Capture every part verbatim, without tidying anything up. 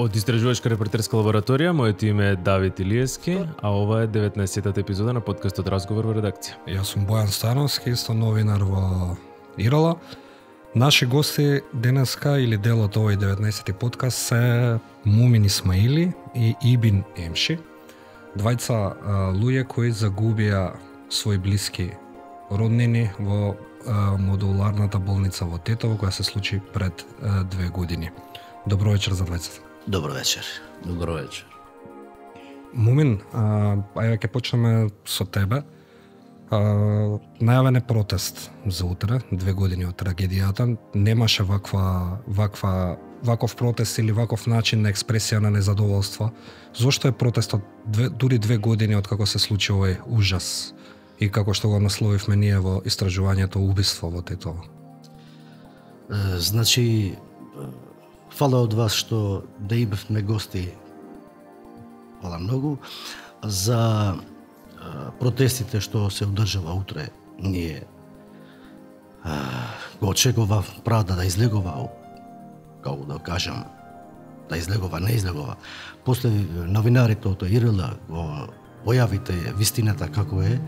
Од Истражувачка репортерска лабораторија, моето име е Давид Илиевски, а ова е деветнаесеттата епизода на подкастот Разговор во редакција. Јас сум Бојан Становски, исто новинар во Ирала. Наши гости денеска или дел од овој деветнаесетти подкаст се Мумин Исмаили и Ибин Емши, двајца луѓе кои загубија своји блиски роднини во а, модуларната болница во Тетово, која се случи пред а, две години. Добро вечер за двајцата. Добро вечер. Добро вечер. Мумин, а, ајде ќе почнеме со тебе. А, најавен е протест за утре, две години од трагедијата. Немаше ваква, ваква, ваков протест или ваков начин на експресија на незадоволство. Зошто е протестот две, дури две години од како се случи овој ужас и како што го насловивме ние во истражувањето убиство во Тетово? Значи, фала од вас што да имавме гости, фала многу, за протестите што се одржава утре. Ние го очекува правда да излегува, како да кажам, да излегува, не излегува. После новинарите од Ирала го појавите вистината како е,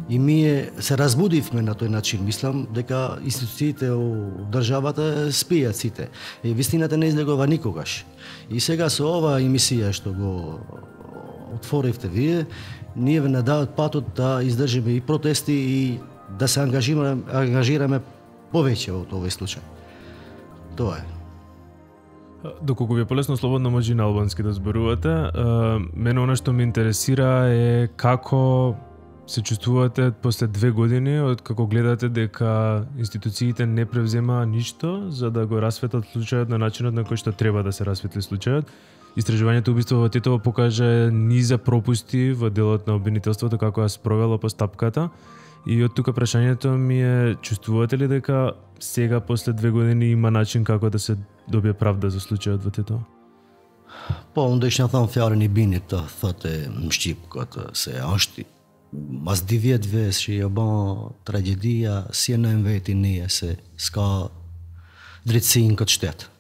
и ние се разбудивме на тој начин. Мислам дека институциите од државата спијат сите. И вистината не излегува никогаш. И сега со ова емисија што го отворивте вие, ние ве надават патот да издржиме и протести и да се ангажираме, ангажираме повеќе од овој случај. Тоа е. Доколку ви е полесно, слободно може и на албански да зборувате. Мене она што ме интересира е како се чувствувате после две години од како гледате дека институциите не превземаа ништо за да го расветат случајот на начинот на кој што треба да се расветли случајот. Истражувањето убиство во Тетово покажа низа пропусти во делот на обвинителството како ја спровело постапката. И од тука прашањето ми е, чувствувате ли дека сега после две години има начин како да се добие правда за случајот во Тетово? Po, unë do ishtë në thonë fjarën i binit të thotë në Shqipë këtë, se është mas di vjetëve që jo ban tragedia, si e në veti nije, se s'ka drejtësi në këtë shtetë,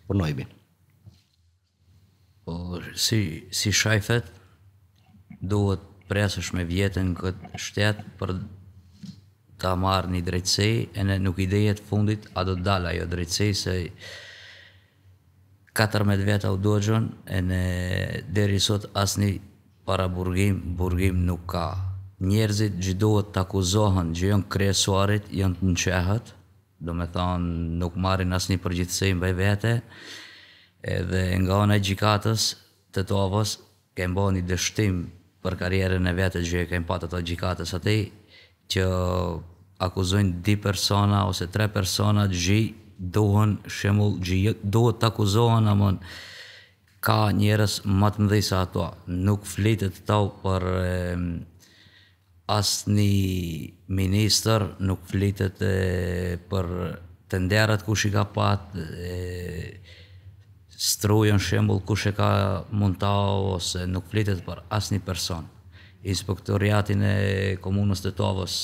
për në i binë. Po, si, si shajfet, duhet presësh me vjetën këtë shtetë për ta marrë një drejtësi, e në nuk idejet fundit, a do të dalë ajo drejtësi, se katërmbëdhjetë vjeta u dogjën, e në deri sot asni para burgim, burgim nuk ka. Njerëzit gjithdohet të akuzohen, që janë kryesuarit, janë të nqehët, do me thonë nuk marrin asni përgjithësi mbaj vete, edhe nga ona e gjikatës të Tovës, kemë bo një dështim për karierën e vete që kemë patë ato gjikatës ati, që akuzojnë di persona ose tre persona gjë dohen shemull gjë dohet të akuzohen, amon ka njerëz më të mëdhej se ato. Nuk flitet tau për e, asni minister, nuk flitet e, për të nderat kush i ka pat, e, strujën shembull kush e ka muntau, ose nuk flitet për asni person. Inspektoriatin e komunës të Tovës,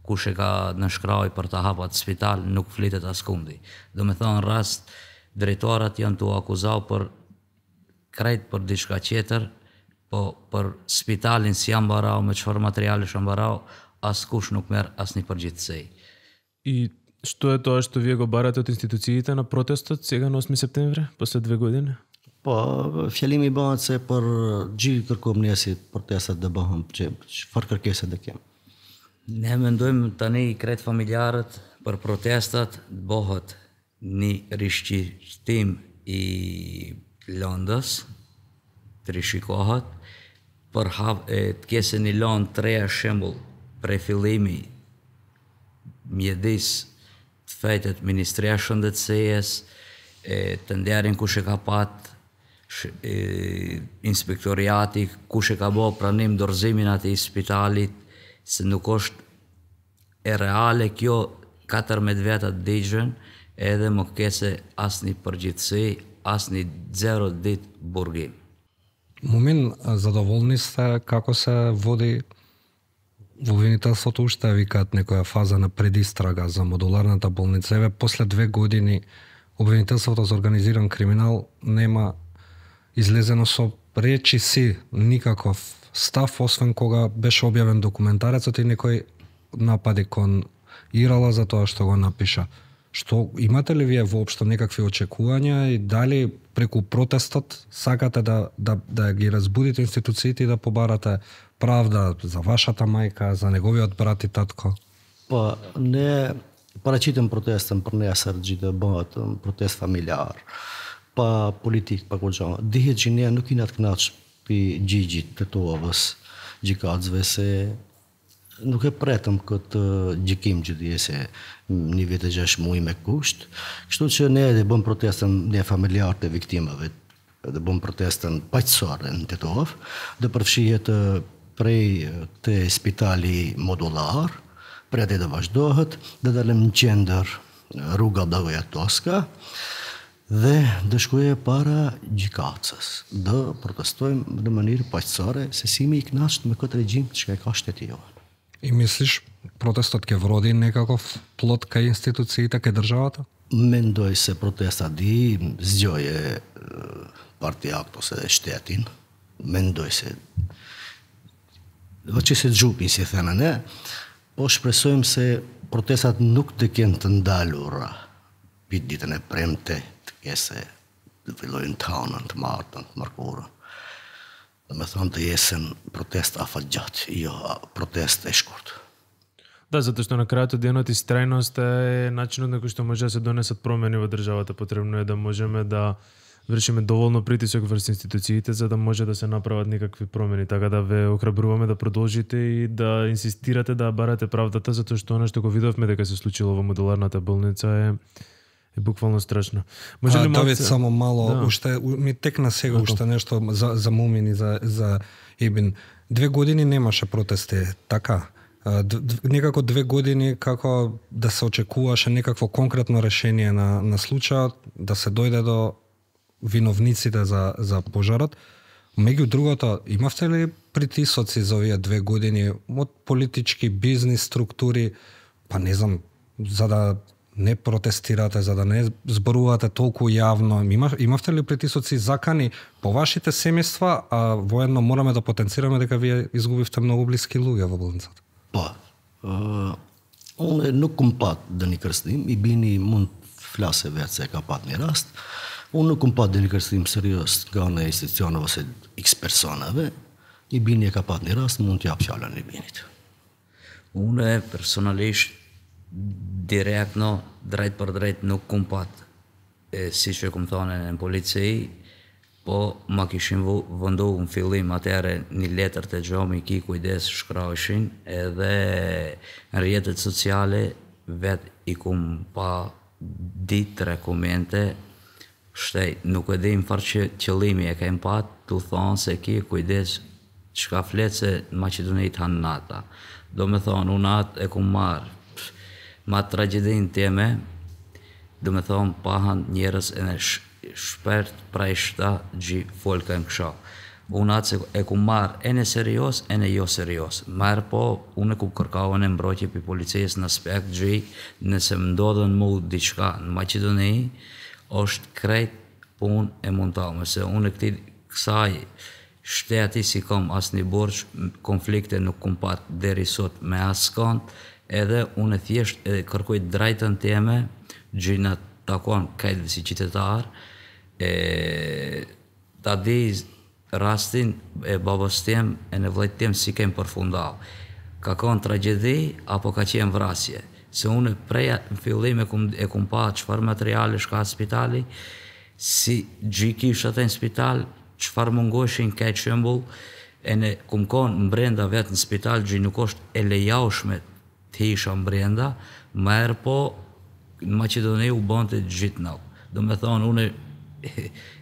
kush e ka nënshkraj për të hapat spital, nuk flitet askundi. Do me thonë rast, drejtorat janë të akuzau për krejt për diçka tjetër, po për spitalin si janë barau, me çfarë materiale janë barau, askush nuk merr asnjë përgjegjësi. И што е тоа што вие го барате од институциите на протестот сега на осми септември, после две години? Po, fjalimi bëhet se për gjithë kërkojmë ne si protestat dhe bëhem që çfarë kërkesa do kem. Ne mendojmë tani krejt familjarët për protestat bëhet një rishqyrtim i Londës, të rishikohet, për hap e të kese një Londë të reja shembull prej fillimi mjedis të fejtet Ministria e Shëndetësisë, të nderin kush e ka pat, e, inspektoriati, kush e ka bo pranim dorëzimin atij spitalit, se nuk është e reale kjo katërmbëdhjetë veta dëgjën edhe më kese asni përgjithësi, asni zero dit burgim. Мумин, задоволни сте како се води во обвинителството, уште викаат некоја фаза на предистрага за модуларната болница. Еве, после две години обвинителството за организиран криминал нема излезено со речи си никаков став, освен кога беше објавен документарецот и некој напади кон Ирала за тоа што го напиша. Што имате ли вие воопшто некакви очекувања и дали преку протестот сакате да, да, да ги разбудите институциите и да побарате правда за вашата мајка, за неговиот брат и татко? Па, не парачитам протестам për ne asargji të bëhet protest familjar. Pa politik, pa kur gjë. Dihet që ne nuk jena të kënaqur pi gjigjit të tovës, gjykatësve se nuk e pretëm këtë gjykim që dje se një vit e gjashtë muaj me kusht. Kështu që ne edhe bëm protestën ne familjarët e viktimave, edhe bëm protestën paqësore në Tetov, dhe përfshihet prej të spitali modullar, prej atë dhe vazhdohet, dhe dalëm në qendër rruga Blagoja Toska, dhe dhe shkuje para gjykatës, dhe protestojmë në mënyrë paqësore se si mi i knasht me këtë regjim që ka shteti jonë. И мислиш, протестот ќе вроди некаков плод кај институциите, кај државата? Mendoj se protesta di zgjoje partijakt ose shtetin. Mendoj se do që se gjupin, si thënë ne, po shpresojmë se protestat nuk të kenë të ndalura pit ditën e premte të kese të fillojnë të hanën, të martën, të mërkurën. Dhe me thonë të jesën protest afat gjatë, jo protest e shkurt. Да, затоа што на крајот од денот истрајност е начинот на кој што може да се донесат промени во државата. Потребно е да можеме да вршиме доволно притисок врз институциите за да може да се направат некакви промени. Така да ве охрабруваме да продолжите и да инсистирате да барате правдата, затоа што она што го видовме дека се случило во модуларната болница е е буквално страшно. Може ли Давид, само мало, да. уште ми текна сега уште нешто за за Мумин и за за Ибин. Две години немаше протести, така. Некако две години како да се очекуваше некакво конкретно решение на на случајот, да се дојде до виновниците за за пожарот. Меѓу другото, имавте ли притисоци за овие две години од политички бизнис структури, па не знам, за да не протестирате, за да не зборувате толку јавно? Има, имавте ли притисоци закани по вашите семејства, а воедно мораме да потенцираме дека вие изгубивте многу блиски луѓе во болницата? Po, uh, unë nuk kum pat dhe një kërstim, i bini mund flase vetë se ka pat një rast, unë nuk kum pat dhe një kërstim serios nga në institucionëve ose x personave, i bini e ka pat një rast, mund t'jap fjallën i binit. Unë personalisht direktno, drejt për drejt nuk kum pat, e, si që kum thone në polici, po ma kishin vëndohu në fillim atëre një letër të gjomi ki kujdes shkraushin, edhe në rjetet sociale vet i kum pa ditë rekomente, shtej, nuk e dim farë që qëllimi e kem pat, të thonë se ki kujdes që ka fletë se në Macedonit hanë nata. Do me thonë, unë atë e kum marë, ma tragedin teme, do me thonë, pahan njerës e në shpert pra ishta gji folka në kësha. Unë atë e ku marë e në serios, e në jo serios. Marë po, unë e ku kërkavën e mbrojtje për policisë në aspekt gji, nëse më ndodhen mu diçka në Macedoni, është krejt pun e mundalme, se unë e këti kësaj shteti si kom asë një borç, konflikte nuk kom pat deri sot me asë kont, edhe unë e thjesht e kërkoj drejtën teme, gjina takon kajtë si qytetar, e ta di rastin e babës tem e në vllajt tem si kem përfundau. Ka kon tragedi apo ka qenë vrasje? Se unë preja në fillim e kum, e kum pa qëfar materiale shka spitali, si gjiki shate në spital, qëfar mungoshin kaj qëmbull, e në kum kon mbrenda vetë në spital, gjë nuk është e lejaushme të isha mbrenda, ma erë po në Macedoni u bënte gjithë nau. Do me thonë, unë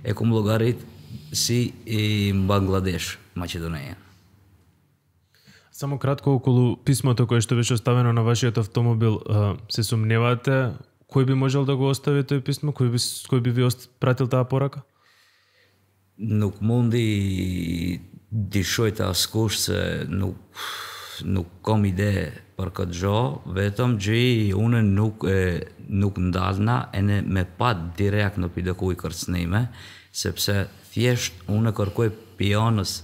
e kum llogarit si i në Bangladesh, Macedonia. Само кратко околу писмото кое што беше оставено на вашиот автомобил, се сомневате кој би можел да го остави тој писмо, кој би кој би ви пратил таа порака? Nuk mundi dishoj të askush se nuk nuk kam ide për këtë gjë, vetëm që unë nuk e, nuk ndalna e ne me pa direkt në pidekuj kërcënime, sepse thjesht unë kërkoj pionës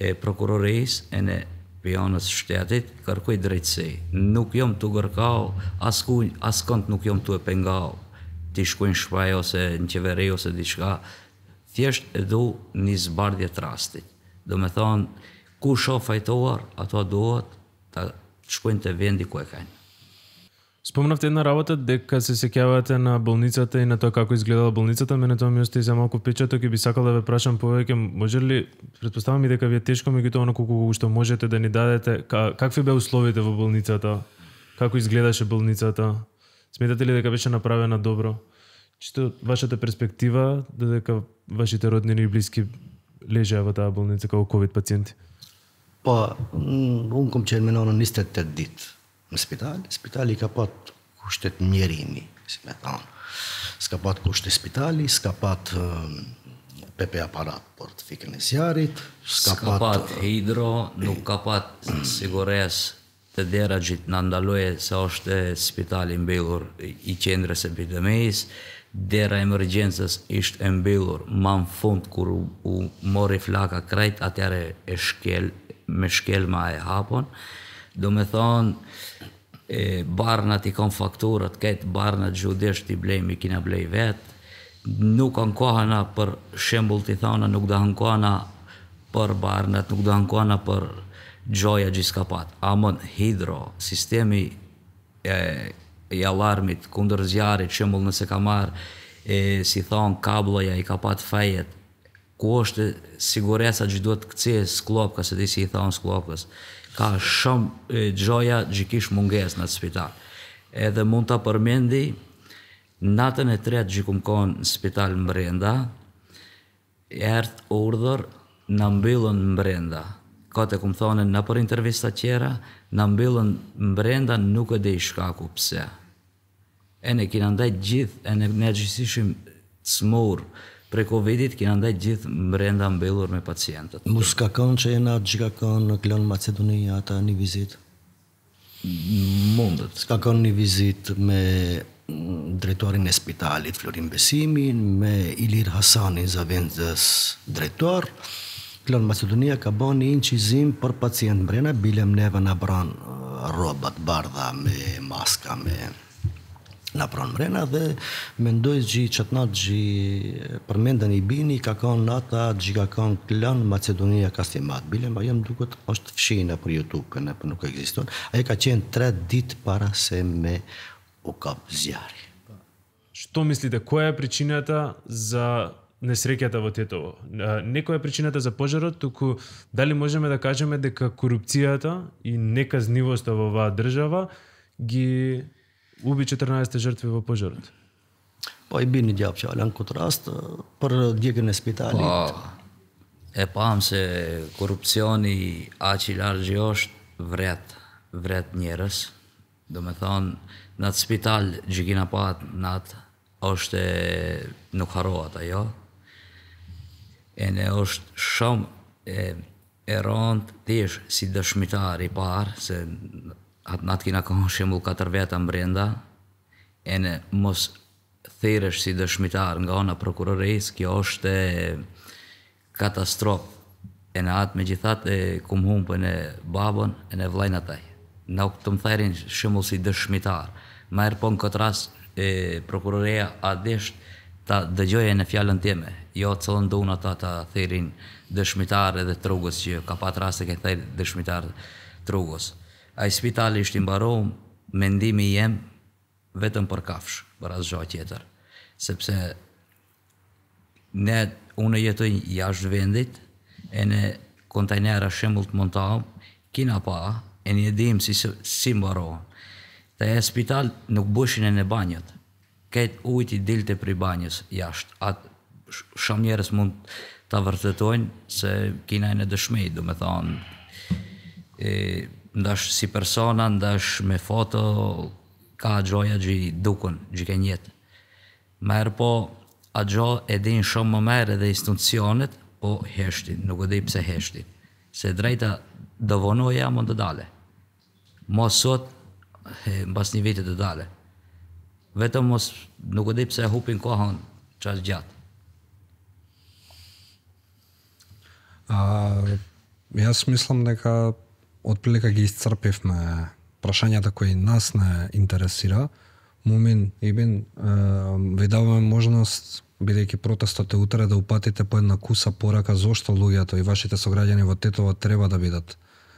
e prokurorisë e ne pionës shtetit, kërkoj drejtësi. Nuk jom të kërkau, askuj, askënd nuk jom të e pengau, t'i shkojnë shpaj ose në qeveri ose diçka, thjesht e du një zbardhje të rastit. Do me thonë, ku shoh fajtuar, ato duhet të shkojnë të vendi ku e kanë. Спомнавте една работа дека се сеќавате на болницата и на тоа како изгледала болницата, мене тоа ми остави за малку впечаток и би сакал да ве прашам повеќе, може ли, претпоставам и дека ви е тешко, меѓутоа оно колку што можете да ни дадете, какви беа условите во болницата, како изгледаше болницата, сметате ли дека беше направена добро? Чисто вашата перспектива, додека вашите роднини и блиски лежеа во таа болница како ковид пациенти? Po, unë kom qenë me nonën njëzet e tetë ditë në spital. Spitali ka pat kushtet mjerimi, si me thonë. S'ka pat kushte spitali, s'ka pat uh, P P aparat për të fikën e zjarit, s'ka, S'ka pat, pat hidro, nuk ka pat sigures të dera gjithë në ndaloje se është spitali mbyllur i qendrës epidemisë, dera emergjencës ishte e mbyllur, ma në fund kur u, u mori flaka krejt, atjare e shkel, me shkelma e hapon. Do me thonë, e, barnat i kanë fakturat, këtë barnat gjudesht i blejmë, i kina blej vetë, nuk ankohana për shembull t'i thona, nuk da ankohana për barnat, nuk da ankohana për gjoja gjithë pat. Amon hidro, sistemi e, i alarmit, kundër zjarit, shembull nëse ka marrë, e, si thonë, kabloja i ka pat fejet, ku është siguresa që duhet këcije sklopka, se ti si i thonë sklopkës, ka shumë gjoja gjikish munges në spital. Edhe mund të përmendi, natën e tretë gjikum konë në spital mbrenda, ertë urdhër në mbyllën mbrenda. Ka të kumë thonë në për intervista tjera, në mbyllën mbrenda nuk e dhe i shkaku pse. E ne kina ndaj gjithë, e ne, ne gjithishim të smurë, pre Covidit kina ndaj gjithë mbrenda mbyllur me pacientët. Mu s'ka kanë që jena që ka kanë në klonë Macedonia ata një vizit? Mundet. S'ka kanë një vizit me drejtorin e spitalit Florin Besimin, me Ilir Hasanin zavendës drejtor. Klonë Macedonia ka bën një incizim për pacient mbrena, bilem neve në bran robat bardha me maska, me në pranë mrena dhe mendoj që qatë natë që përmendën i bini ka kanë nata që ka kanë Klonë Macedonia Kastimat. Bile ma jam duket është fshina për YouTube, në për nuk ekziston. Ajo ka qenë tre ditë para se me u kap zjari. Што мислите, која е причината за несреќата во Тетово? Не која е причината за пожарот, туку дали можеме да кажеме дека корупцијата и неказнивоста во оваа држава ги ubi четрнаесет жртви во пожарот? Po i bini gjapë që ala në këtë rast për djegën e spitalit. Po, e pam se korupcioni aq i largë është vret, vret njerës. Do me thonë, në atë spital që kina pat në atë, është e, nuk harohat ajo. E ne është shumë e, e rëndë tish si dëshmitar i parë, se atë natë kina kohë shembull katër veta mbrenda, e ne mos thiresh si dëshmitar nga ona prokurorisë, kjo është katastrofë. E në atë me gjithat e kum humpën e babën e në vlajnë ataj. Në të më thajrin shembull si dëshmitar. Ma erë po në këtë rast e prokuroria adesht ta dëgjoje në fjallën time, jo të cëllën do unë ata ta thirin dëshmitar edhe trugës, që ka pat rast e ke thajr dëshmitar trugës. A i spitali ishtë imbarohëm, mendimi jem vetëm për kafsh, për asë gjohë tjetër. Sepse ne, unë jetoj jashtë vendit, e në kontajnera shembull të montahëm, kina pa, e një dim si, si mbarohëm. Të e spital nuk bëshin e në banjët, këtë ujt i dilte për i banjës jashtë. Atë shumë njerës mund të vërtetojnë se kina e në dëshmej, do me thonë, e, ndash si persona, ndash me foto, ka gjoja gji dukun, gji ke njetë. Merë po, a gjo e din shumë më merë edhe institucionet, po heshtin, nuk e di pse heshtin. Se drejta do vonoja më të dale. Mos sot, mbas një vitit të dale. Vetëm mos, nuk e di pse hupin kohën qas gjatë. А, јас мислам дека отприлика ги исцрпивме прашањата кои нас не интересира. Мумин Ибин, ви даваме можност, бидејќи протестот е утре, да упатите по една куса порака зошто луѓето и вашите сограѓани во Тетово треба да бидат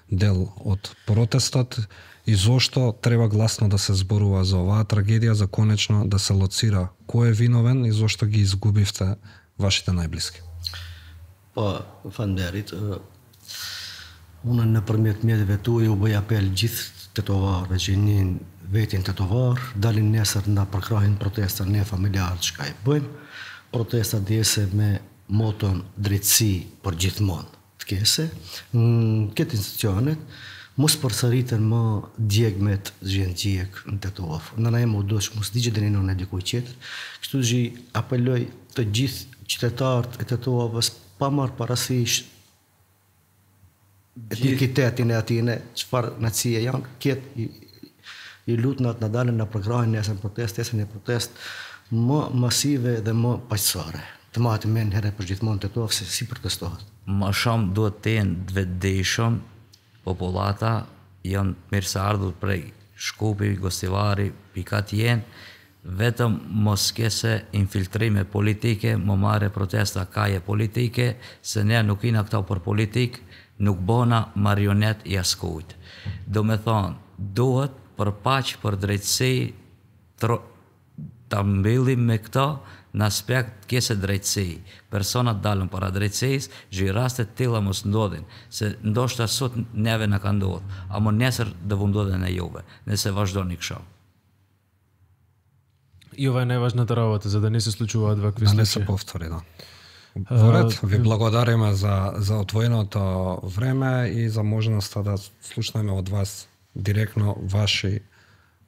дел од протестот и зошто треба гласно да се зборува за оваа трагедија, за конечно да се лоцира кој е виновен и зошто ги изгубивте вашите најблиски. Po, falënderit. Unë nëpërmjet mjetëve tuaj u bëj apel gjithë tetovarëve që njën vetin tetovar, dalin nesër na përkrahin protesta ne familjarët çka i bëjmë. Protesta djese me moton drejtësi për gjithmonë të kese. Në këtë institucionet, mos përsëriten më djegmet zhjen djeg në Tetov. Në na e më dosh mos digje dhe në dikuj qetër. Kështu që apeloj të gjithë qytetarët e Tetovës pa marrë parasysh etikitetin e atine, çfarë nacie janë, kjetë i, i lutnat në dalën në përkrahin nesën protest, nesën e protest më masive dhe më paqësore. Të matë men herë për gjithmonë Tetovë se si protestohet. Më shumë duhet të jenë të vetëdijshëm, populata janë mirë se ardhur prej Shkupi, Gostivari, pikat jenë, vetëm mos kese infiltrime politike, më marre protesta kaje politike, se ne nuk ina këta për politik, nuk bona marionet i askujt. Do me thonë, duhet për paq, për drejtësi, të mbyllim me këta në aspekt kese drejtësi. Personat dalën para drejtësis, gjë rastet tilla mos ndodhin, se ndoshta sot neve në ka ndodhë, amo nesër dhe vu ndodhen e juve, nëse vazhdoni kësha. И ова е најважната работа, за да не се случуваат вакви Да случаи. не се повтори, да. Воред, ви благодариме за, за отвоеното време и за можноста да слушнеме од вас директно ваши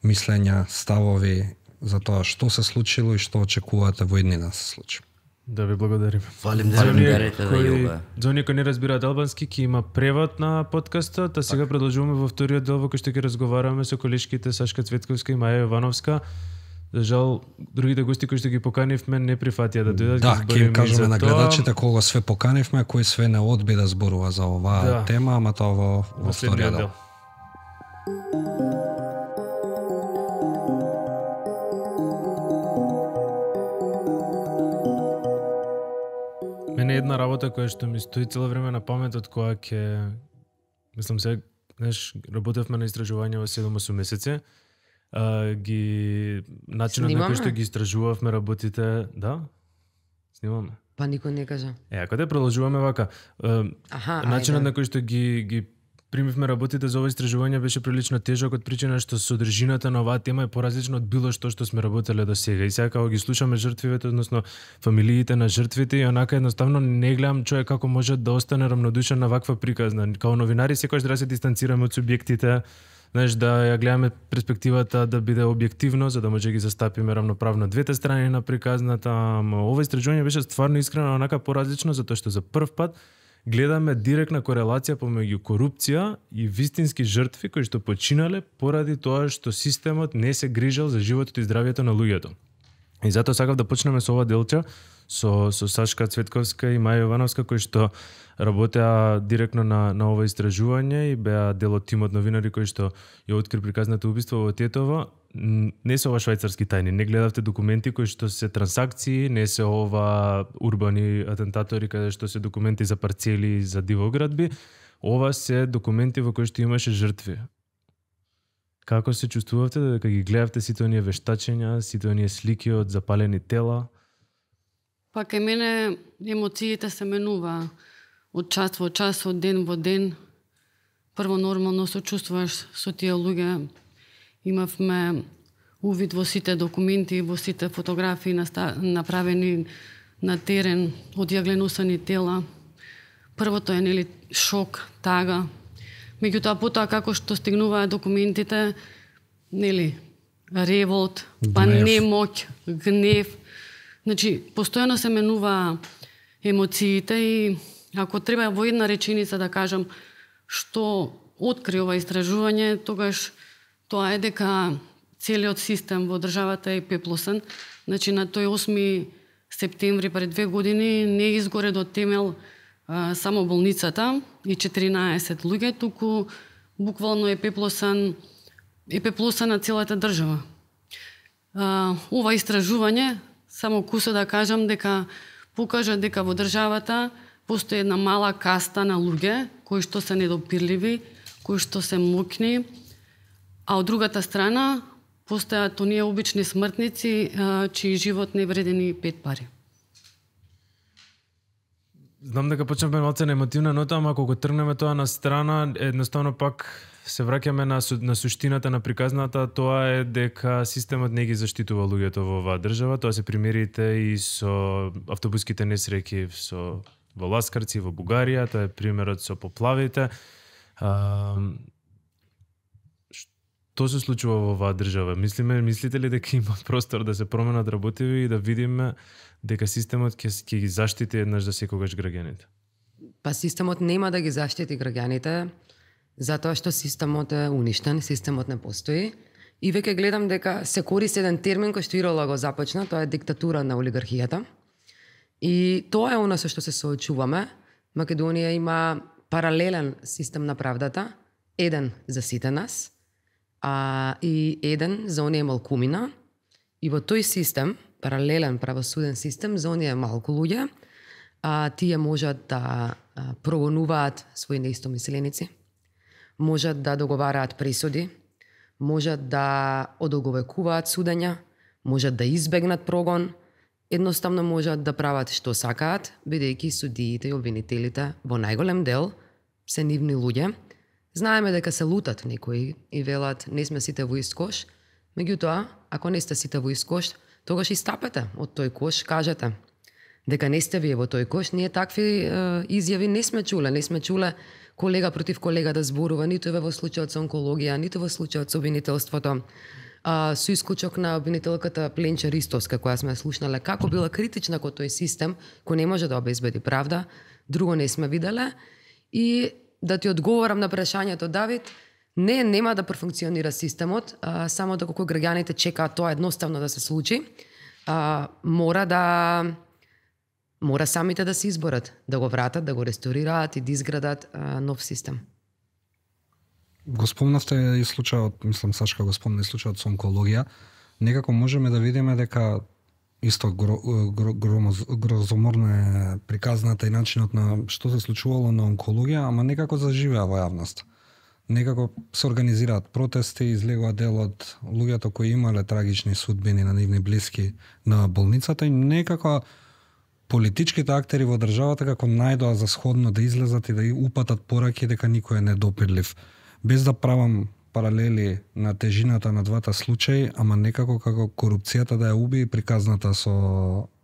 мислења, ставови за тоа што се случило и што очекувате во иднина да се случи. Да ви благодарим. Фалимдерите да јубе. За оние кои не разбираат албански, ќе има превод на подкастот, а сега продолжуваме во вториот дел во кој што ќе разговараме со колешките Сашка Цветковска и Маја Јовановска. За жал, другите гости кои што ги поканивме не прифатија да дојдат. Да, ќе им кажеме на гледачите кога све поканивме, кој све не одби да зборува за оваа да. тема, ама тоа во, во вториот дел. Мене една работа која што ми стои цело време на паметот, која ќе, мислам се, знаеш, работевме на истражување во седум-осум месеци. Uh, ги начинот на кој што ги истражувавме работите, да? Снимаме. Па никој не кажа. Е, ако да продолжуваме вака, uh, Аха, начинот ајде. на кој што ги ги примивме работите за ова истражување беше прилично тежок од причина што содржината на оваа тема е поразлична од било што што сме работеле до сега. И сега кога ги слушаме жртвите, односно фамилиите на жртвите, и онака едноставно не гледам човек како може да остане рамнодушен на ваква приказна. Као новинари секогаш треба да се дистанцираме од субјектите, знаеш, да ја гледаме перспективата да биде објективно, за да може ги застапиме равноправно двете страни на приказната. Ама ова истражување беше стварно искрено онака поразлично, затоа што за прв пат гледаме директна корелација помеѓу корупција и вистински жртви кои што починале поради тоа што системот не се грижал за животот и здравјето на луѓето. И затоа сакав да почнеме со ова делче со со Сашка Цветковска и Маја Јовановска кои што работеа директно на на ова истражување и беа дел од тимот новинари кои што ја откри приказното убиство во Тетово. Не се ова швајцарски тајни, не гледавте документи кои што се трансакции, не се ова урбани атентатори каде што се документи за парцели за дивоградби, ова се документи во кои што имаше жртви. Како се чувствувавте дека ги гледавте сите оние вештачења, сите оние слики од запалени тела? Па кај мене емоциите се менува од час во час, од ден во ден. Прво нормално се чувствуваш со тие луѓе. Имавме увид во сите документи, во сите фотографии направени на терен од јагленусани тела. Првото е нели шок, тага. Меѓутоа потоа како што стигнуваат документите, нели, револт, па немоќ, гнев. Значи, постојано се менува емоциите и ако треба во една реченица да кажам што откри ова истражување, тогаш тоа е дека целиот систем во државата е пеплосен. Значи, на тој осми септември пред две години не изгоре до темел а, само болницата и четиринаесет луѓе, туку буквално е пеплосан е пеплосана целата држава. А, ова истражување, само куса да кажам дека покажа дека во државата постои една мала каста на луѓе кои што се недопирливи, кои што се мокни, а од другата страна постојат оние обични смртници а, чиј живот не вреди ни пет пари. Знам дека почнавме малце на емотивна нота, ама кога тргнеме тоа на страна, едноставно пак се враќаме на, на суштината на приказната, тоа е дека системот не ги заштитува луѓето во оваа држава, тоа се примерите и со автобуските несреќи со во Ласкарци, во Бугарија, тоа е примерот со поплавите. А, што се случува во оваа држава? Мислиме, мислите ли дека има простор да се променат работиви и да видиме дека системот ќе ќе ги заштити еднаш за секогаш граѓаните? Па системот нема да ги заштити граѓаните, затоа што системот е уништен, системот не постои. И веќе гледам дека се користи еден термин кој што Ирола го започна, тоа е диктатура на олигархијата. И тоа е она со што се соочуваме. Македонија има паралелен систем на правдата, еден за сите нас, а и еден за оние малкумина. И во тој систем, паралелен правосуден систем, за оние малку луѓе, а, тие можат да а, прогонуваат своји неистомисленици, можат да договараат пресуди, можат да одолговекуваат судења, можат да избегнат прогон, едноставно можат да прават што сакаат, бидејќи судиите и обвинителите во најголем дел се нивни луѓе. Знаеме дека се лутат некои и велат не сме сите во ист кош, меѓутоа, ако не сте сите во ист кош, тогаш и стапете од тој кош, кажете дека не сте вие во тој кош. Ние такви е, изјави не сме чуле, не сме чуле колега против колега да зборува, ниту во случајот со онкологија, ниту во случајот со обвинителството. А, со исклучок на обвинителката Пленче Ристовска, која сме слушнале како била критична кон тој систем, кој не може да обезбеди правда, друго не сме виделе. И да ти одговорам на прашањето, Давид, не, нема да профункционира системот, а, само доколку граѓаните чекаат тоа едноставно да се случи, а, мора да мора самите да се изборат, да го вратат, да го ресторираат и да изградат а, нов систем. Го спомнавте и случајот, мислам Сашка го спомна и случајот со онкологија. Некако можеме да видиме дека исто гро, гро, гро, грозоморно е приказната и начинот на што се случувало на онкологија, ама некако заживеа во јавност. Некако се организираат протести, излегува дел од луѓето кои имале трагични судбини на нивни блиски на болницата и некако политичките актери во државата како најдоа за сходно да излезат и да упатат пораки дека никој е недопирлив. Без да правам паралели на тежината на двата случаи, ама некако како корупцијата да ја уби приказната со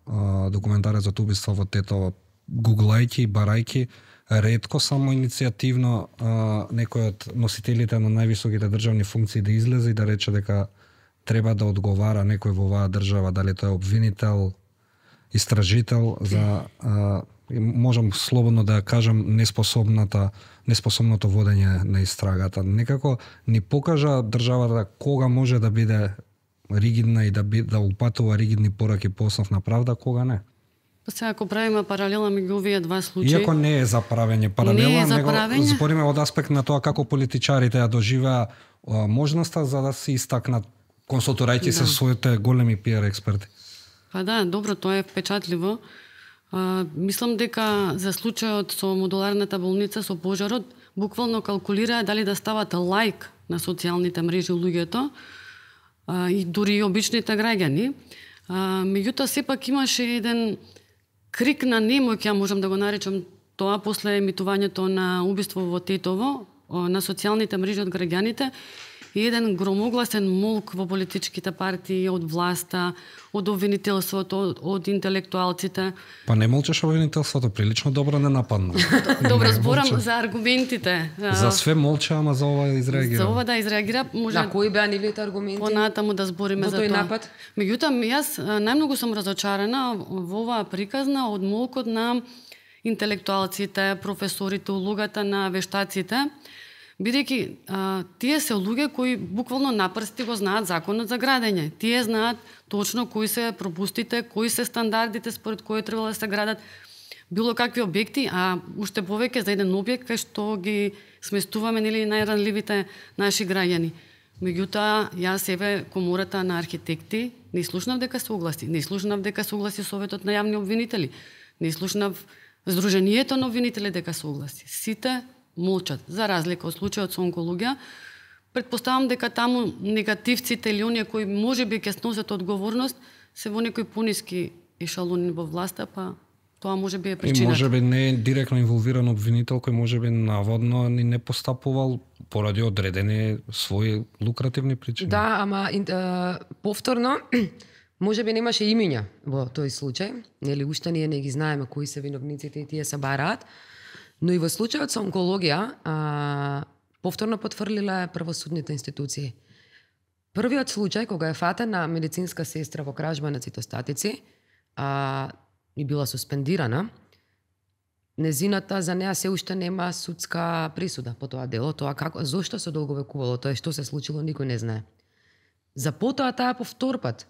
а, документарецот убиство во Тетово, гуглајки и барајки, ретко само иницијативно а, некој од носителите на највисоките државни функции да излезе и да рече дека треба да одговара некој во оваа држава, дали тоа е обвинител, истражител за а, можам слободно да кажам неспособната неспособното водење на истрагата. Некако ни покажа државата кога може да биде ригидна и да би, да упатува ригидни пораки по основна правда, кога не. Па сега ако правиме паралела меѓу овие два случаи. Иако не е за правење паралела, не е за него правење. збориме од аспект на тоа како политичарите ја доживеа можноста за да се истакнат консултирајќи да. се своите големи пиар експерти. Па да, добро, тоа е впечатливо. А, мислам дека за случајот со модуларната болница со пожарот, буквално калкулираа дали да стават лайк на социјалните мрежи луѓето а, и дури и обичните граѓани. А, меѓутоа, сепак имаше еден крик на немоќ, ја можам да го наречам тоа, после емитувањето на убиство во Тетово, на социјалните мрежи од граѓаните, и еден громогласен молк во политичките партии, од власта, од обвинителството, од, од интелектуалците. Па не молчеш обвинителството, прилично добро не нападна. Добро, зборам за аргументите. За све молча, ама за ова изреагира. За ова да изреагира, може... На кои беа нивните аргументи? Понатаму да збориме Во за тој тоа. напад? Меѓутоа, јас а, најмногу сум разочарана во оваа приказна од молкот на интелектуалците, професорите, улогата на вештаците, бидејќи а, тие се луѓе кои буквално на прсти го знаат законот за градење. Тие знаат точно кои се пропустите, кои се стандардите според кои требало да се градат било какви објекти, а уште повеќе за еден објект кај што ги сместуваме нели најранливите наши граѓани. Меѓутоа, јас еве комората на архитекти не слушнав дека се огласи, не слушнав дека се огласи Советот на јавни обвинители, не слушнав Сдруженијето на обвинители дека се огласи. Сите молчат, за разлика од случајот со онкологија. Предпоставам дека таму негативците или оние кои можеби ќе сносат одговорност се во некои пониски ешалони во власта, па тоа можеби е причината. И можеби не е директно инволвиран обвинител кој можеби наводно ни не постапувал поради одредени своји лукративни причини. Да, ама е, повторно можеби немаше имиња во тој случај, нели уште ние не ги знаеме кои се виновниците и тие се бараат, но и во случајот со онкологија а, повторно потврлила правосудните институции. Првиот случај кога е фатена медицинска сестра во кражба на цитостатици, а и била суспендирана, незината за неа се уште нема судска присуда по тоа дело, тоа како зошто се долговекувало, тоа што се случило никој не знае. За потоа таа повторпат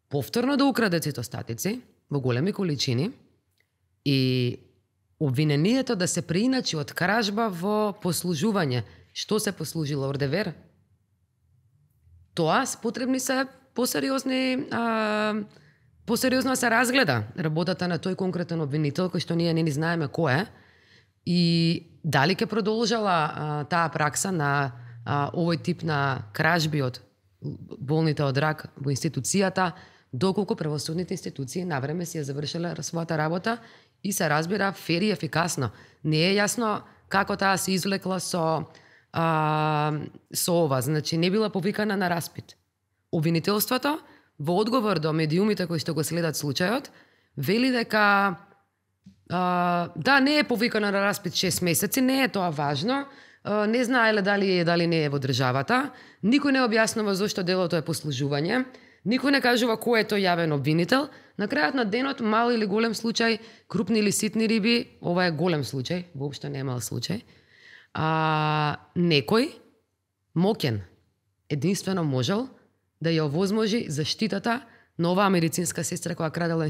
повторно да украде цитостатици во големи количини и обвинението да се преиначи од кражба во послужување. Што се послужило, ордевер? Тоа потребни се посериозни а, посериозно се разгледа работата на тој конкретен обвинител, кој што ние не ни знаеме кој е, и дали ќе продолжала а, таа пракса на а, овој тип на кражби од болните од рак во институцијата, доколку правосудните институции навреме си ја завршиле својата работа и се разбира фер и ефикасно. Не е јасно како таа се извлекла со, а, со ова, значи не била повикана на распит. Обвинителството во одговор до медиумите кои што го следат случајот, вели дека а, да, не е повикана на распит шест месеци, не е тоа важно, а, не знаеле дали е, дали не е во државата, никој не објаснува зошто делото е послужување, никој не кажува кој е тој јавен обвинител. На крајот на денот, мал или голем случај, крупни или ситни риби, ова е голем случај, воопшто не е мал случај, а, некој моќен единствено можел да ја овозможи заштитата на оваа медицинска сестра која крадела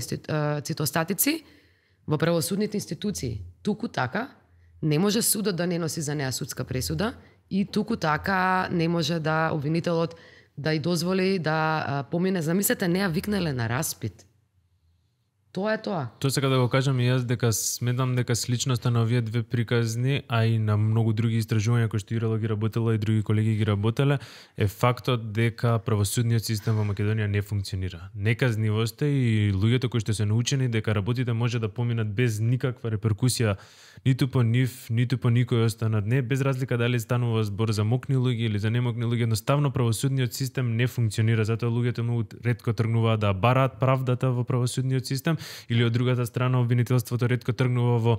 цитостатици во правосудните институции. Туку така не може судот да не носи за неа судска пресуда и туку така не може да обвинителот да ја дозволи да а, помине. Замислете, неа викнале на распит. Тоа е тоа. Тоа сега да го кажам и јас дека сметам дека сличноста на овие две приказни, а и на многу други истражувања кои што Ирела ги работела и други колеги ги работеле, е фактот дека правосудниот систем во Македонија не функционира. Неказнивоста и луѓето кои што се научени дека работите може да поминат без никаква реперкусија ниту по нив, ниту по никој останат. Не, без разлика дали станува збор за мокни луѓе или за немокни луѓе, едноставно правосудниот систем не функционира, затоа луѓето многу ретко тргнуваат да бараат правдата во правосудниот систем, или од другата страна обвинителството ретко тргнува во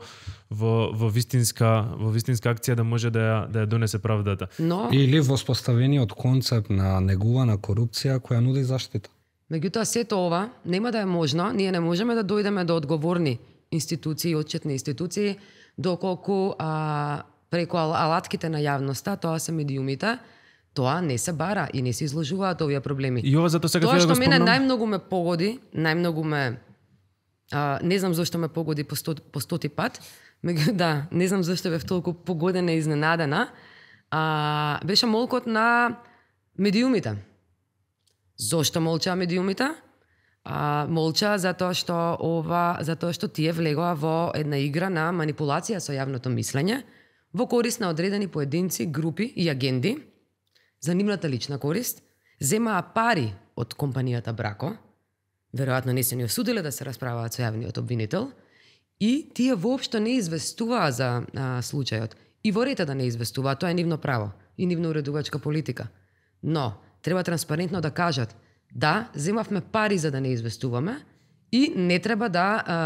во во вистинска во вистинска акција да може да ја да ја донесе правдата. Но Или воспоставениот концепт на негувана корупција која нуди заштита. меѓутоа сето ова нема да е можно, ние не можеме да дојдеме до одговорни институции, отчетни институции, доколку а, преку алатките на јавноста, тоа се медиумите, тоа не се бара и не се изложуваат овие проблеми. И ова затоа сега Тоа треба да што го мене спомнам. најмногу ме погоди, најмногу ме а, не знам зошто ме погоди по, сто, по стоти пат, меѓу да, не знам зошто бев толку погодена и изненадена, а, беше молкот на медиумите. Зошто молчаа медиумите? А, молчаа затоа што ова, затоа што тие влегоа во една игра на манипулација со јавното мислење, во корист на одредени поединци, групи и агенди, за нивната лична корист, земаа пари од компанијата Брако, веројатно не се ни осудиле да се расправаат со јавниот обвинител, и тие воопшто не известуваа за а, случајот. И ворете да не известуваат, тоа е нивно право и нивна уредувачка политика. Но треба транспарентно да кажат да, земавме пари за да не известуваме и не треба да а,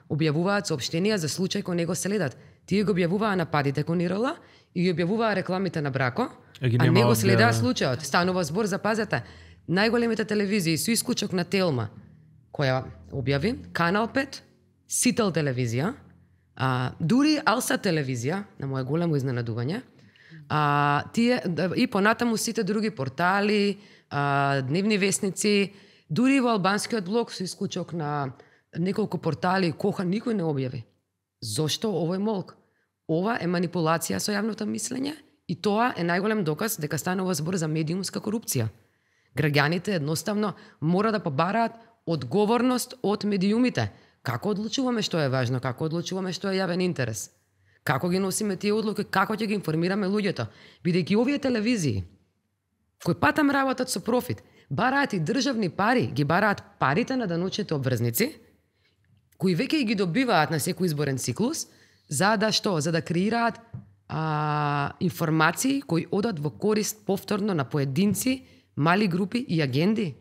објавуваат соопштенија за случај кој не го следат. Тие го објавуваа нападите кон ИРЛ и ги објавуваа рекламите на Брако, А ги а нема не го објавено. следаа случајот. Станува збор, запазете, најголемите телевизии со исклучок на Телма, која објави, Канал пет, Сител телевизија, а, дури Алса телевизија, на моje големо изненадување, а, тие, и понатаму сите други портали, а, дневни вестници, дури во албанскиот блог со исклучок на неколку портали, коха никој не објави. Зошто овој молк? Ова е манипулација со јавното мислење и тоа е најголем доказ дека станува збор за медиумска корупција. Граѓаните едноставно мора да побараат одговорност од медиумите. Како одлучуваме што е важно, како одлучуваме што е јавен интерес? Како ги носиме тие одлуки, како ќе ги информираме луѓето? Бидејќи овие телевизии, кои патам работат со профит, бараат и државни пари, ги бараат парите на даночните обврзници, кои веќе ги добиваат на секој изборен циклус, за да што? За да креираат а, информации кои одат во корист повторно на поединци, мали групи и агенди.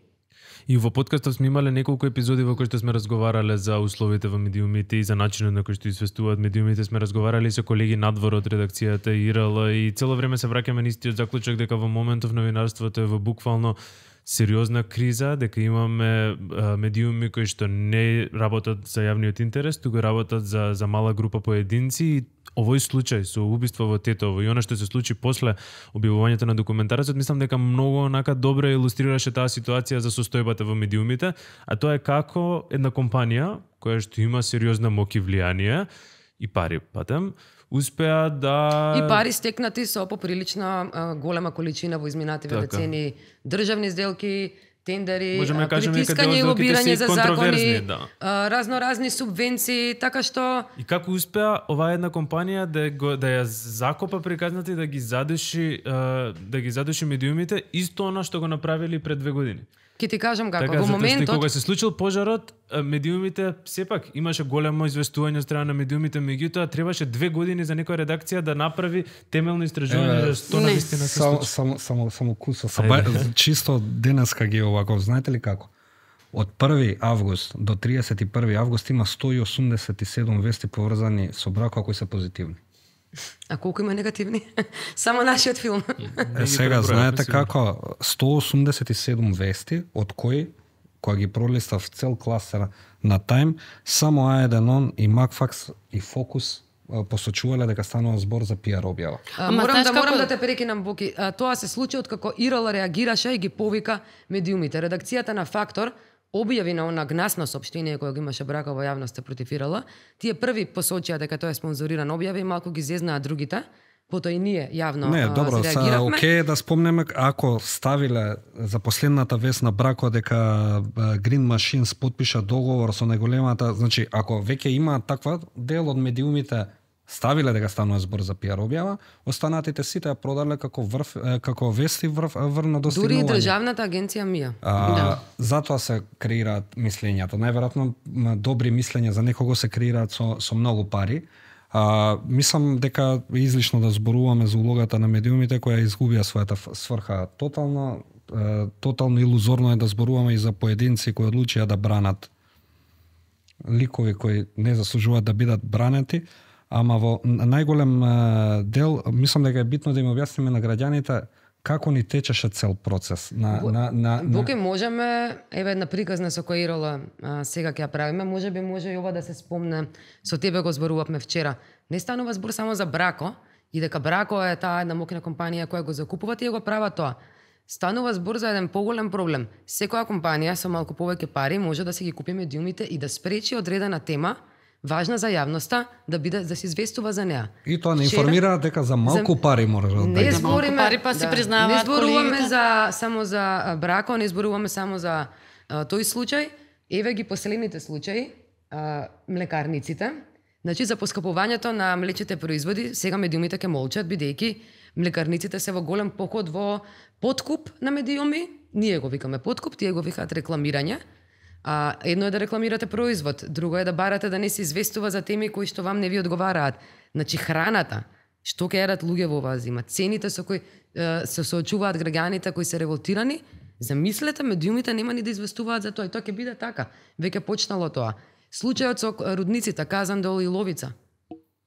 И во подкастот сме имале неколку епизоди во кои што сме разговарале за условите во медиумите и за начинот на кој што известуваат медиумите. Сме разговарали со колеги надвор од редакцијата ИРЛ и цело време се враќаме на истиот заклучок дека во моментов новинарството е во буквално сериозна криза, дека имаме а, медиуми кои што не работат за јавниот интерес, туку работат за за мала група поединци и овој случај со убиство во Тетово и она што се случи после објавувањето на документарецот, мислам дека многу онака добро илустрираше таа ситуација за состојбата во медиумите, а тоа е како една компанија која што има сериозна моќ и влијание и пари патем, успеа да... И пари стекнати со поприлично а, голема количина во изминативе Така. децени, државни сделки, тендери, Можеме а, да кажеме дека притискање и дел од сделките се лобирање и за контроверзни, закони, да. а, разноразни субвенции, така што И како успеа оваа една компанија да го да ја закопа приказната и да ги задуши а, да ги задуши медиумите, исто она што го направили пред две години. ќе ти кажам како, Така, во затоа што и моментот, кога се случил пожарот, а, медиумите сепак имаше големо известување од страна на медиумите, меѓутоа требаше две години за некоја редакција да направи темелно истражување Е, за што не. навистина се Само, случи. само, само, само кусов. Ајде. Ба, чисто денеска ги овако, знаете ли како? Од први август до триесет и први август има сто и осумдесет и седум вести поврзани со бракот кои се позитивни. а колку има негативни? Само нашиот филм. Е, сега, знаете како, сто осумдесет и седум вести, од кои, кога ги пролистав цел кластер на Time, само А еден он и Макфакс и Фокус а, посочувале дека станува збор за пиар објава. А, Ама морам знаеш да како- морам да те прекинам, Боки. А, тоа се случи откако ИРЛ реагираше и ги повика медиумите. Редакцијата на Фактор објави на она гнасно соопштение кое го имаше Брако во јавноста против ИРЛ. Тие први посочија дека тоа е спонзориран објави и малку ги зезнаа другите. Потоа и ние јавно Не, а, добро, са, реагиравме. окей да спомнеме ако ставиле за последната вест на Брако дека а, Green Machines потпиша договор со најголемата, значи ако веќе има таква дел од медиумите ставиле дека станува збор за пиар објава, останатите сите ја продале како врв е, како вести врв, врно Дури и достигнување. државната агенција МИА. А, Да. Затоа се креираат мислењата. Најверојатно м, добри мислења за некого се креираат со, со многу пари. А, мислам дека е излишно да зборуваме за улогата на медиумите која изгубија својата ф- сврха тотално. Е, тотално илузорно е да зборуваме и за поединци кои одлучија да бранат ликови кои не заслужуваат да бидат бранети, ама во најголем е, дел, мислам дека е битно да им објасниме на граѓаните како ни течеше цел процес на Во- на на, на... Боке, можеме, еве една приказна со која ИРЛ а, сега ќе ја правиме, може би може и ова да се спомне, со тебе го зборувавме вчера. Не станува збор само за Брако, и дека Брако е таа една моќна компанија која го закупува, тие го прават тоа. Станува збор за еден поголем проблем. Секоја компанија со малку повеќе пари може да си ги купи медиумите и да спречи одредена тема, важна за јавноста, да биде да се известува за неа. И тоа не Вчера- информираат дека за малку За- пари може да Не даде. За малку збориме, пари, па си признаваат не зборуваме колегите. за само за а, Брако, не зборуваме само за а, тој случај. Еве ги последните случаи, а, млекарниците. Значи за поскапувањето на млечните производи, сега медиумите ќе молчат бидејќи млекарниците се во голем поход во подкуп на медиуми. Ние го викаме подкуп, тие го викаат рекламирање. А, едно е да рекламирате производ, друго е да барате да не се известува за теми кои што вам не ви одговараат. Значи храната, Што ќе едат луѓе во оваа зима? Цените со кои е, се соочуваат граѓаните кои се револтирани, замислете, медиумите нема ни да известуваат за тоа и тоа ќе биде така. Веќе почнало тоа. Случајот со рудниците, Казандол и Ловица.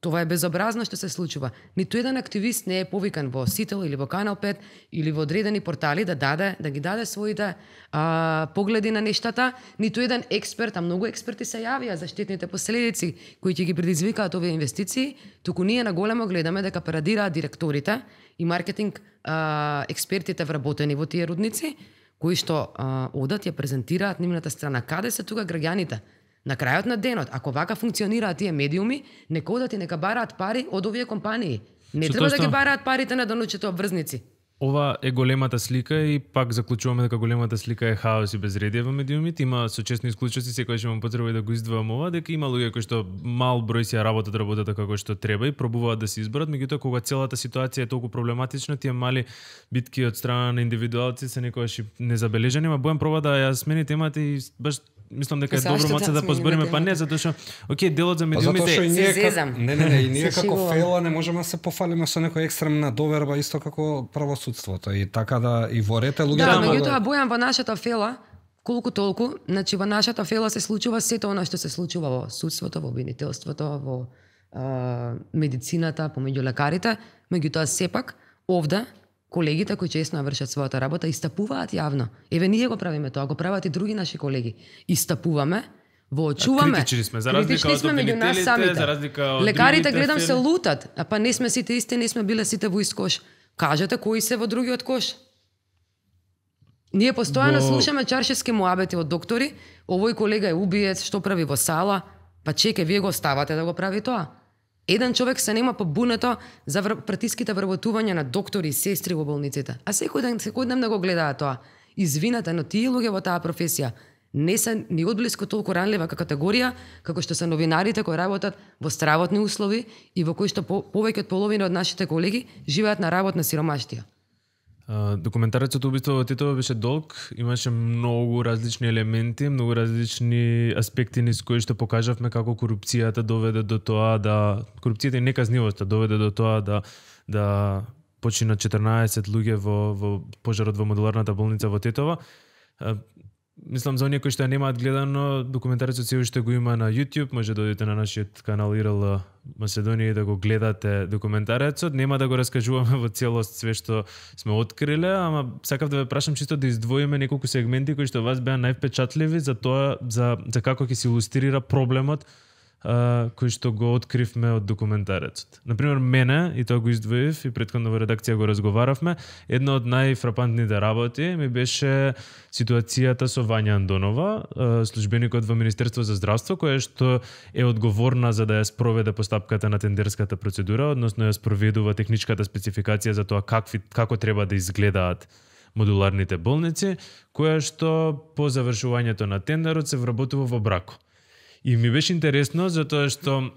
Това е безобразно што се случува. Ниту еден активист не е повикан во Сител или во Канал пет или во одредени портали да даде, да ги даде своите а, погледи на нештата. Ниту еден експерт, а многу експерти се јавија за штетните последици кои ќе ги предизвикаат овие инвестиции, туку ние на големо гледаме дека парадираат директорите и маркетинг а, експертите вработени во тие рудници, кои што а, одат ја презентираат нивната страна. Каде се тука граѓаните? На крајот на денот, ако вака функционираат тие медиуми, нека одат и нека бараат пари од овие компании. Не Што треба да тоа ги што- бараат парите на донучите обврзници. Ова е големата слика и пак заклучуваме дека големата слика е хаос и безредие во медиумите. Има со честни исклучоци, секојаш имам потреба и да го издвојам ова, дека има луѓе кои што мал број си ја работат работата како што треба и пробуваат да се изборат, меѓутоа кога целата ситуација е толку проблематична, тие мали битки од страна на индивидуалци се некогаш и незабележани, ма Бојан проба да ја смени темата и баш мислам дека е Зашто добро маце да да смениме позбориме, па темата? не, затоа што окей, делот за Па затоа што и медиумите ние Се како зезам. не не не и ние Се како шегувам. фела не можеме да се пофалиме со некоја екстремна доверба исто како правосудството и така да и во рете луѓето Да, ама- меѓутоа Бојан во нашата фела, колку толку, значи во нашата фела се случува сето она што се случува во судството, во обвинителството, во а, медицината, помеѓу лекарите, меѓутоа сепак овде колегите кои честно ја вршат својата работа истапуваат јавно. Еве ние го правиме тоа, го прават и други наши колеги. Истапуваме, воочуваме. Критични сме, за разлика Критични од сме меѓу нас обвинителите, самите. за разлика од Лекарите другите гледам фели. се лутат, а па не сме сите исти, не сме биле сите во ист кош. Кажете кои се во другиот кош. Ние постојано Во- слушаме чаршески муабети од доктори, овој колега е убиец, што прави во сала, па чеке, вие го оставате да го прави тоа. Еден човек се нема по бунето за вр... притиските вработување на доктори и сестри во болниците. А секој ден, секој ден да го гледаат тоа. Извинете, но тие луѓе во таа професија не се ни одблиску толку ранлива категорија, како што се новинарите кои работат во стравотни услови и во кои што по, повеќе од половина од нашите колеги живеат на работна сиромаштија. А, Документарецот Убиство во Титово беше долг, имаше многу различни елементи, многу различни аспекти низ кои што покажавме како корупцијата доведе до тоа да корупцијата и неказнивоста доведе до тоа да да починат четрнаесет луѓе во во пожарот во модуларната болница во Тетово. А, Мислам за оние кои што ја немаат гледано, документарецот се уште го има на YouTube, може да одите на нашиот канал ИРЛ Македонија и да го гледате документарецот. Нема да го раскажуваме во целост све што сме откриле, ама сакав да ве прашам чисто да издвоиме неколку сегменти кои што вас беа највпечатливи за тоа за за како ќе се илустрира проблемот а, кој што го откривме од документарецот. Например, мене, и тоа го издвоив, и претходно во редакција го разговаравме, една од најфрапантните работи ми беше ситуацијата со Вања Андонова, а, службеникот во Министерство за здравство, која што е одговорна за да ја спроведе постапката на тендерската процедура, односно ја спроведува техничката спецификација за тоа какви, како треба да изгледаат модуларните болници, која што по завршувањето на тендерот се вработува во брако. И ми беше интересно затоа што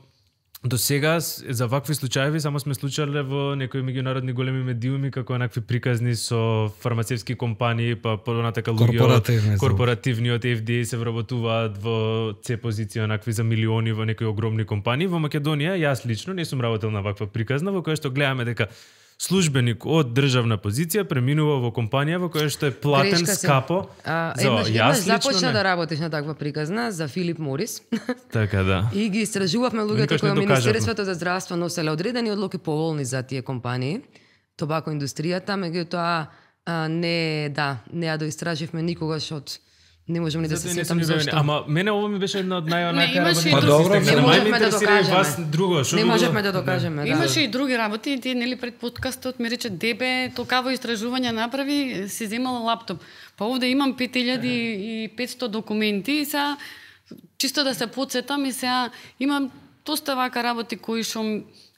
до сега с- за вакви случаи само сме случале во некои меѓународни големи медиуми како некакви приказни со фармацевски компании, па понатака луѓе Корпоративни, од корпоративниот Ф Д А се вработуваат во С позиција накви за милиони во некои огромни компании. Во Македонија јас лично не сум работел на ваква приказна во која што гледаме дека службеник од државна позиција преминува во компанија во која што е платен Грешка се. скапо. А, за еднаш, јас еднаш лично започна не. да работиш на таква приказна за Филип Морис. Така да. И ги истражувавме луѓето Никош кои не во докажавме. Министерството за здравство носеле одредени одлуки поволни за тие компании, тобако индустријата, меѓутоа а, не, да, не ја доистраживме никогаш од не можам ни да се Затоа не сум сетам ни бевени. зошто. Ама мене ово ми беше една од најонака Не, имаше работи. и Па други добро, системи. не Не Мај ме можевме да интересира и докажеме. вас друго, што Не друго? можевме да докажеме, да. Имаше и други работи, и тие нели пред подкастот ми рече Дебе, толкаво истражување направи, си земала лаптоп. Па овде имам пет илјади и петсто документи и сега чисто да се потсетам и сега имам доста вака работи кои што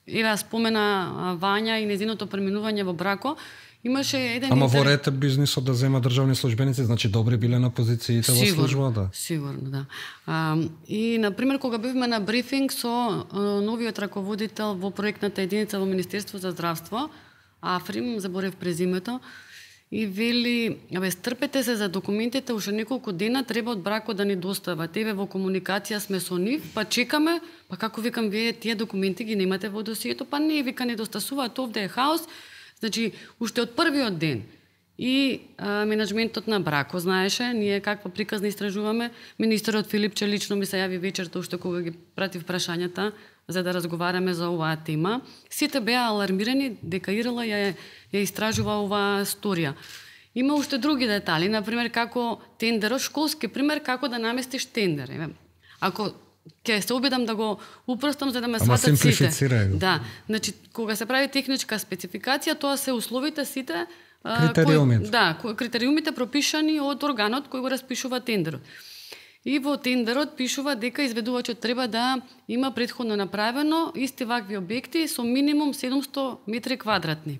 еве ја спомена а, Вања и незиното преминување во брако. Имаше еден Ама во интерес- рете бизнисот да зема државни службеници, значи добри биле на позициите во служба, да. Сигурно, да. А, и, например, кога бевме на брифинг со а, новиот раководител во проектната единица во Министерство за здравство, Африм, заборев презимето, и вели, абе, стрпете се за документите, уште неколку дена треба од бракот да ни достават. Еве во комуникација сме со нив, па чекаме, па како викам, вие тие документи ги немате во досието, па не, вика, не достасуваат, овде е хаос. Значи, уште од првиот ден и а, менеджментот на брако знаеше, ние каква приказна истражуваме, министерот Филипче лично ми се јави вечерта, уште кога ги пратив прашањата, за да разговараме за оваа тема. Сите беа алармирани дека Ирела ја, ја истражува оваа сторија. Има уште други детали, например како тендерот, школски пример како да наместиш тендер. Еве, ако ќе се обидам да го упростам за да ме сватат сите. Да, значи кога се прави техничка спецификација, тоа се условите сите критериумите. Кои, да, критериумите пропишани од органот кој го распишува тендерот. И во тендерот пишува дека изведувачот треба да има претходно направено исти вакви објекти со минимум седумсто метри квадратни.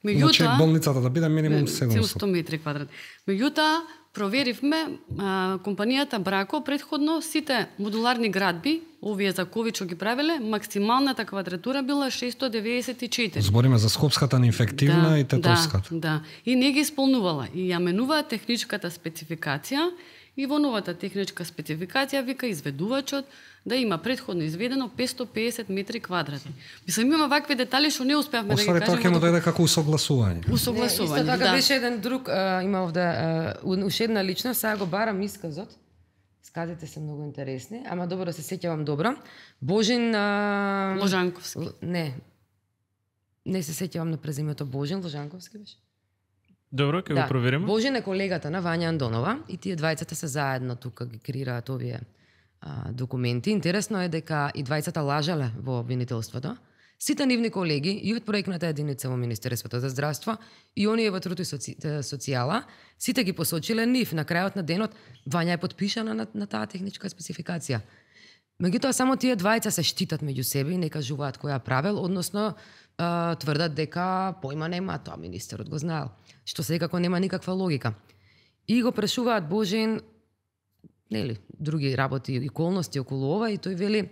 Меѓутоа, значи болницата да биде минимум седумсто метри квадратни. Меѓутоа, проверивме а, компанијата Брако претходно сите модуларни градби, овие за ковид што ги правеле, максималната квадратура била шестоста деветдесет и четири. Збориме за скопската инфективна да, и тетовската. Да, да, и не ги исполнувала. И ја менува техничката спецификација и во новата техничка спецификација вика изведувачот да има претходно изведено петстотини и педесет метри квадратни. Мислам, има вакви детали што не успеавме да ги кажеме. Освари тоа ќе му дојде како усогласување. Усогласување, не, исто така да. беше еден друг, а, има овде а, уште една личност, сега го барам исказот. Исказите се многу интересни, ама добро се сеќавам добро. Божин а... Ложанковски. Не. Не се сеќавам на презимето Божин Ложанковски беше. Добро, ќе да. го провериме. Божин е колегата на Вања Андонова и тие двајцата се заедно тука ги креираат овие а, документи. Интересно е дека и двајцата лажале во обвинителството. Сите нивни колеги и од проектната единица во Министерството за здравство и оние во труд и соци... социјала, сите ги посочиле нив. На крајот на денот Вања е подпишана на, на таа техничка спецификација. Меѓутоа само тие двајца се штитат меѓу себе и не кажуваат која правел, односно а, тврдат дека појма нема, тоа министерот го знаел, што секако нема никаква логика. И го прашуваат Божин, нели, други работи и околности околу ова и тој вели: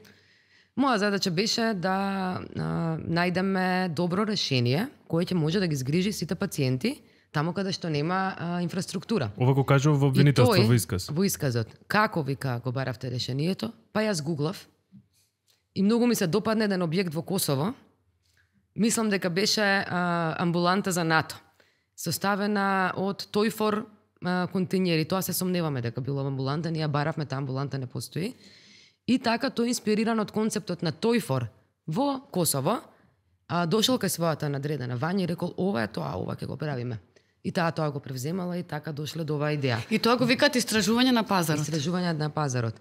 моја задача беше да а, најдеме добро решение кое ќе може да ги згрижи сите пациенти таму каде што нема а, инфраструктура. Ова го кажува во обвинителство тој, во исказ. Во исказот. Како вика го баравте решението? Па јас гуглав и многу ми се допадна еден објект во Косово. Мислам дека беше а, амбуланта за НАТО, составена од Тојфор а, континери. Тоа се сомневаме дека било амбуланта, ние баравме, таа амбуланта не постои. И така тој инспириран од концептот на Тојфор во Косово, а, дошол кај својата надредена Вања и рекол: ова е тоа, ова ќе го правиме. И таа тоа го превземала и така дошле до оваа идеја. И тоа го викаат истражување на пазарот. Истражување на пазарот.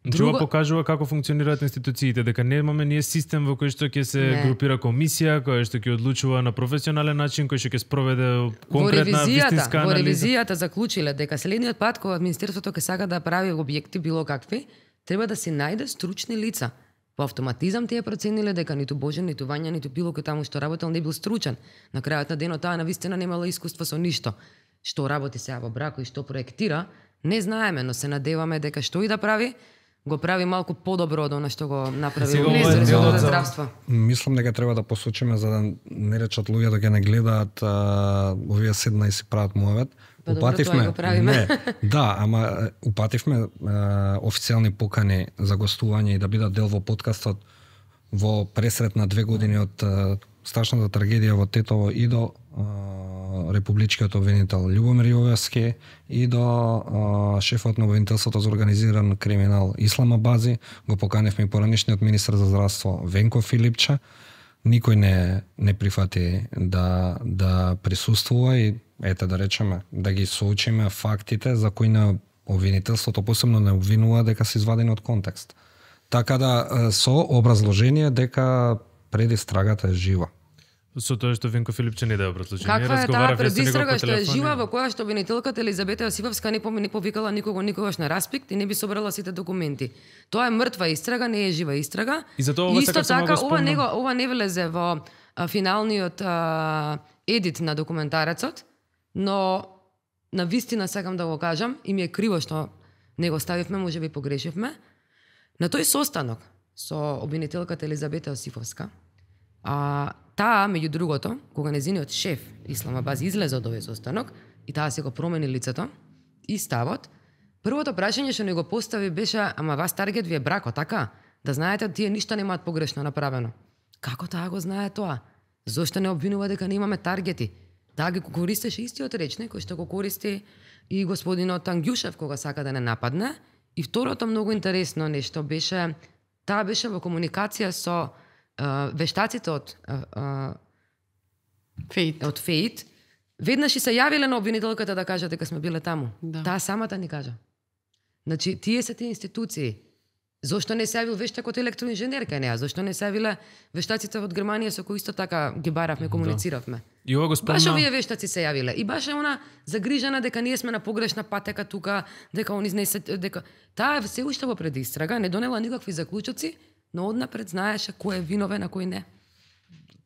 Друго... Ова покажува како функционираат институциите, дека немаме ние систем во кој што ќе се не. групира комисија, која што ќе одлучува на професионален начин, кој што ќе спроведе конкретна вистинска анализа. Во ревизијата заклучиле дека следниот пат кога Министерството ќе сака да прави објекти било какви, треба да се најде стручни лица. По автоматизам тие процениле дека ниту Божен, ниту Вања, ниту било кој таму што работел не бил стручен. На крајот на денот таа навистина немала искуство со ништо. Што работи сега во брако и што проектира, не знаеме, но се надеваме дека што и да прави, го прави малку подобро од она што го направи Министерството за здравство. Мислам дека треба да посочиме за да не речат луѓето ќе не гледаат а, овие седна и си прават муавет. Па упативме, добро, не, да, ама упативме а, официјални покани за гостување и да бидат дел во подкастот во пресрет на две години од а, страшната трагедија во Тетово и до а, републичкиот обвинител Љубомир Јовевски и до а, шефот на обвинителството за организиран криминал Ислама Бази. Го поканевме и поранишниот министер за здравство Венко Филипче. Никој не не прифати да да присуствува и ете да речеме да ги соочиме фактите за кои на обвинителството посебно не обвинува дека се извадени од контекст. Така да со образложение дека предистрагата е жива. Со тоа што Венко Филипче не даде образложение. Каква е таа предистрага што е жива, во која што обвинителката Елизабета Јосифовска не не повикала никого никогаш на распит и не би собрала сите документи. Тоа е мртва истрага, не е жива истрага. И за тоа ова исто така така ова не ова не влезе во а, финалниот а, едит на документарецот, но на вистина сакам да го кажам и ми е криво што не го ставивме, можеби погрешивме. На тој состанок со обвинителката Елизабета Јосифовска, а таа, меѓу другото, кога незиниот шеф Исламабад излезе од овој состанок и таа се го промени лицето и ставот, првото прашање што не го постави беше: ама вас таргет ви е брако, така? Да знаете, тие ништо немаат погрешно направено. Како таа го знае тоа? Зошто не обвинува дека немаме таргети? Таа ги користеше истиот речник кој што го користи и господинот Ангјушев кога сака да не нападне. И второто многу интересно нешто беше, таа беше во комуникација со uh, вештаците од uh, Фейт. од Фейт. Веднаш и се јавиле на обвинителката да кажат дека сме биле таму. Да. Таа самата ни кажа. Значи, тие се тие институции. Зошто не се јавил вештакот електроинженер кај неа? Зошто не се јавиле вештаците од Германија со кои исто така ги баравме, комунициравме? И ова го спомна... Баш овие вештаци се јавиле. И баш е она загрижена дека ние сме на погрешна патека тука, дека они не се... Дека... Таа се уште во предистрага, не донела никакви заклучоци, но однапред знаеше кој е виновен, а кој не.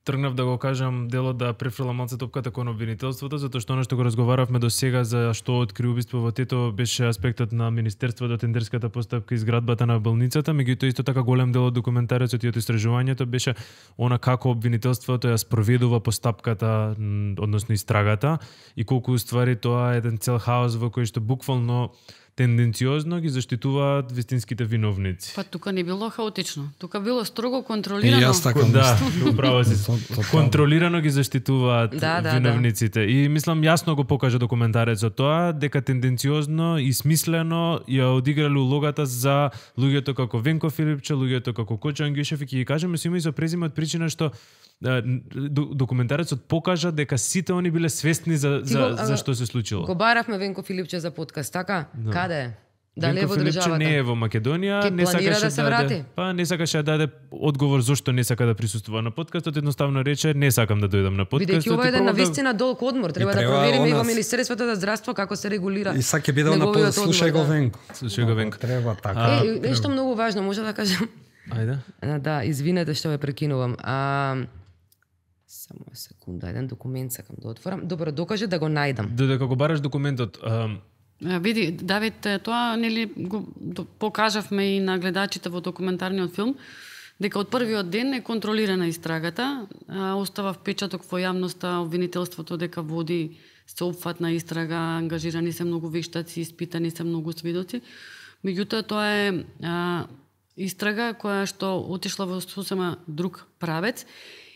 Тргнав да го кажам делот да префрлам малце топката кон обвинителството, затоа што оно што го разговаравме до сега за што откри убиство во Тето беше аспектот на Министерството, тендерската постапка и изградбата на болницата, меѓутоа исто така голем дел од документарецот и од истражувањето беше она како обвинителството ја спроведува постапката, односно истрагата, и колку уствари тоа е еден цел хаос во кој што буквално тенденциозно ги заштитуваат вистинските виновници. Па тука не било хаотично. Тука било строго И контролирано. јас така Да, мислам. управо си. Контролирано ги заштитуваат Да, да, виновниците. И мислам јасно го покажа документарецот тоа, дека тенденциозно и смислено ја одиграле улогата за луѓето како Венко Филипче, луѓето како Кочо Ангјушев, и ќе ги кажеме со име и со презиме од причина што документарецот покажа дека сите они биле свесни за за, го, за што се случило. Го баравме Венко Филипче за подкаст, така? Да. Каде е? Дали е Венко во Филипче државата? не е во Македонија, Ке не планира сакаше да се да врати? даде, па не сакаше да даде одговор зошто не сака да присуствува на подкастот, едноставно рече не сакам да дојдам на подкастот. Бидејќи ова е и еден пробав да- навистина долг одмор, треба да треба провериме и во она- Министерството за здравство како се регулира. И саќе бидел на неговиот слушај одмор, го да. Венко. Слушај го Венко. Треба така. А, Е, нешто многу важно, може да кажам. Ајде. А, Да, извинете што ве прекинувам. А, само секунда, еден документ сакам да отворам. Добро, докаже да го најдам. Додека го бараш документот, ам, А, види, Давид, е, тоа нели го до- покажавме и на гледачите во документарниот филм, дека од првиот ден е контролирана истрагата, а, остава впечаток во јавноста обвинителството дека води сеопфатна истрага, ангажирани се многу вештаци, испитани се многу сведоци. Меѓутоа тоа е а, истрага која што отишла во сосема друг правец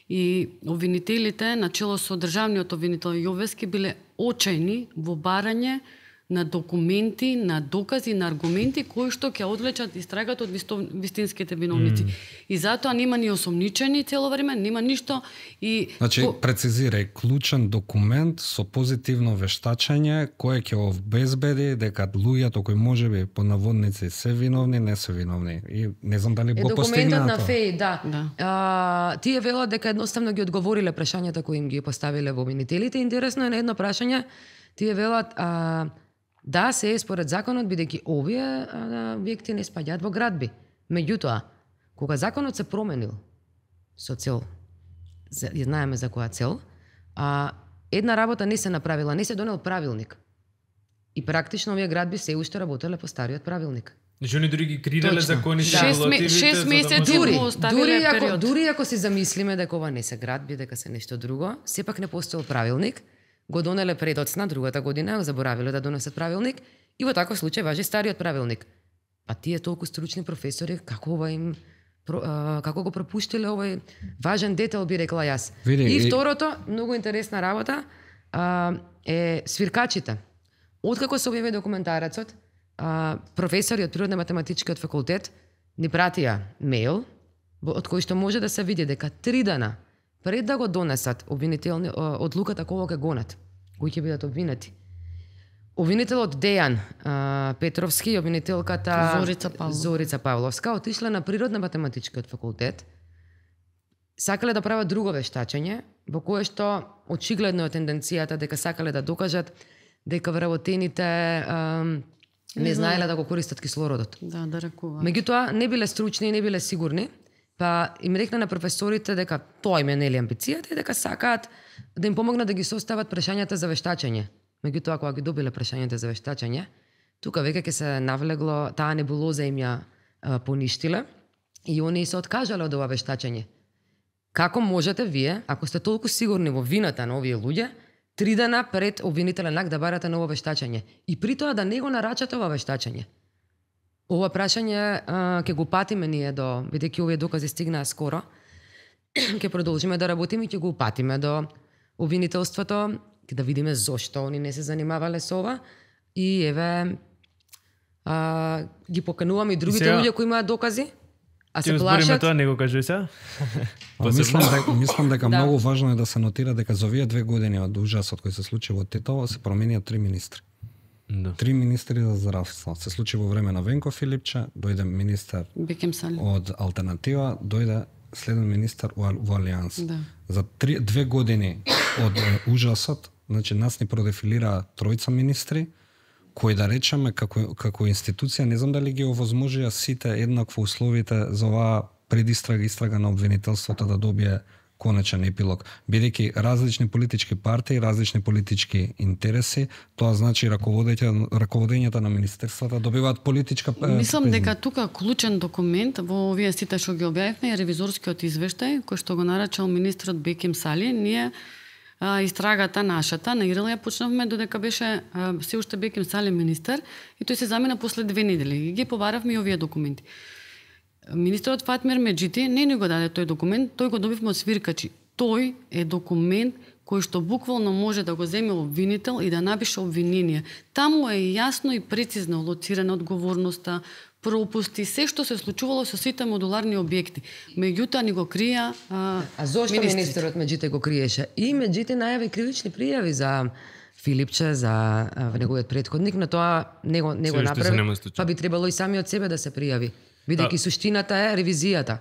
и обвинителите, начело со државниот обвинител Јовески, биле очајни во барање на документи, на докази, на аргументи кои што ќе одвлечат истрагата од висто, вистинските виновници. Mm. И затоа нема ни осомничени цело време, нема ништо и Значи, Ко- прецизирај, клучен документ со позитивно вештачење кој ќе обезбеди дека луѓето кои можеби по наводници се виновни, не се виновни. И не знам дали Е го документот постигнаа на тоа. ФЕИ, да. Да. А, тие велат дека едноставно ги одговориле прашањата кои им ги поставиле во обвинителите. Интересно е на едно прашање, тие велат а, да, се е според законот, бидејќи овие а, објекти не спаѓаат во градби. Меѓутоа, кога законот се променил со цел, за- ја знаеме за која цел, а, една работа не се направила, не се донел правилник. И практично овие градби се уште работеле по стариот правилник. Значи они дури ги креирале Точно. законите, Да. Шест ме- регулативите, шест за да месеци може- Дури, му оставиле дури ако, период. дури ако си замислиме дека ова не се градби, дека се нешто друго, сепак не постоел правилник, го донеле предоцна другата година, заборавиле да донесат правилник, и во таков случај важи стариот правилник. А тие толку стручни професори, како ова им про- а, како го пропуштиле овој важен детел, би рекла јас. Види, и и- второто, многу интересна работа, а, е свиркачите. Откако се објави документарецот, а, професори од Природно-математичкиот факултет ни пратија мејл, во- од кој што може да се види дека три дана пред да го донесат обвинителни а, одлуката кого ќе гонат, кои ќе бидат обвинети. Обвинителот Дејан а, Петровски и обвинителката Зорица Павловска. Зорица Павловска отишле на Природно-математичкиот факултет, сакале да прават друго вештачење, во кое што очигледно е тенденцијата дека сакале да докажат дека вработените ам, не знаеле да го користат кислородот. Да, да рекува. Меѓутоа, не биле стручни и не биле сигурни, па им рекна на професорите дека тоа им е нели амбицијата и дека сакаат да им помогнат да ги состават прашањата за вештачење. Меѓутоа, кога ги добиле прашањата за вештачење, тука веќе ќе се навлегло, таа небулоза им ја а, поништиле и они се откажале од ова вештачење. Како можете вие, ако сте толку сигурни во вината на овие луѓе, три дена пред обвинителен акт да барате ново вештачење и при тоа да не го нарачате ова вештачење? Ова прашање а, ќе го патиме ние до, бидејќи овие докази стигнаа скоро, ќе продолжиме да работиме и ќе го патиме до обвинителството, да видиме зошто они не се занимавале со ова и еве а, ги покануваме и другите сега... луѓе кои имаат докази, а се Ќе плашат. збориме тоа, не го кажи сега. Мислам дека, мислам дека Да. многу важно е да се нотира дека за овие две години од ужасот кој се случи во Тетово се променија три министри. Да. Три министри за здравство. Се случи во време на Венко Филипче, дојде министар Бекем Сали. од Алтернатива, дојде следен министар во, во Алијанс. Да. За три, две години од е, ужасот, значи нас ни продефилираа тројца министри, кои да речеме како како институција не знам дали ги овозможија сите еднакво условите за оваа предистрага истрага на обвинителството да добие конечен епилог. Бидејќи различни политички партии, различни политички интереси, тоа значи раководењето раководењето на министерствата добиваат политичка Мислам дека тука клучен документ во овие сите што ги објавивме е ревизорскиот извештај кој што го нарачал министрот Бекем Сали. Ние а, истрагата нашата на Ирел ја почнавме додека беше а, се уште Бекем Сали министер и тој се замена после две недели и ги побаравме и овие документи. Министерот Фатмир Меджити не ни го даде тој документ, тој го добивме од свиркачи. Тој е документ кој што буквално може да го земе обвинител и да напише обвинение. Таму е јасно и прецизно лоцирана одговорноста, пропусти, се што се случувало со сите модуларни објекти. Меѓутоа ни го крија а, А зошто министрите. министерот Меджите го криеше? И Меджите најави кривични пријави за Филипче, за а, неговиот претходник, но тоа не го, не го Се уште се направи, нема случај. па би требало и сами од себе да се пријави. Бидејќи Да. суштината е ревизијата.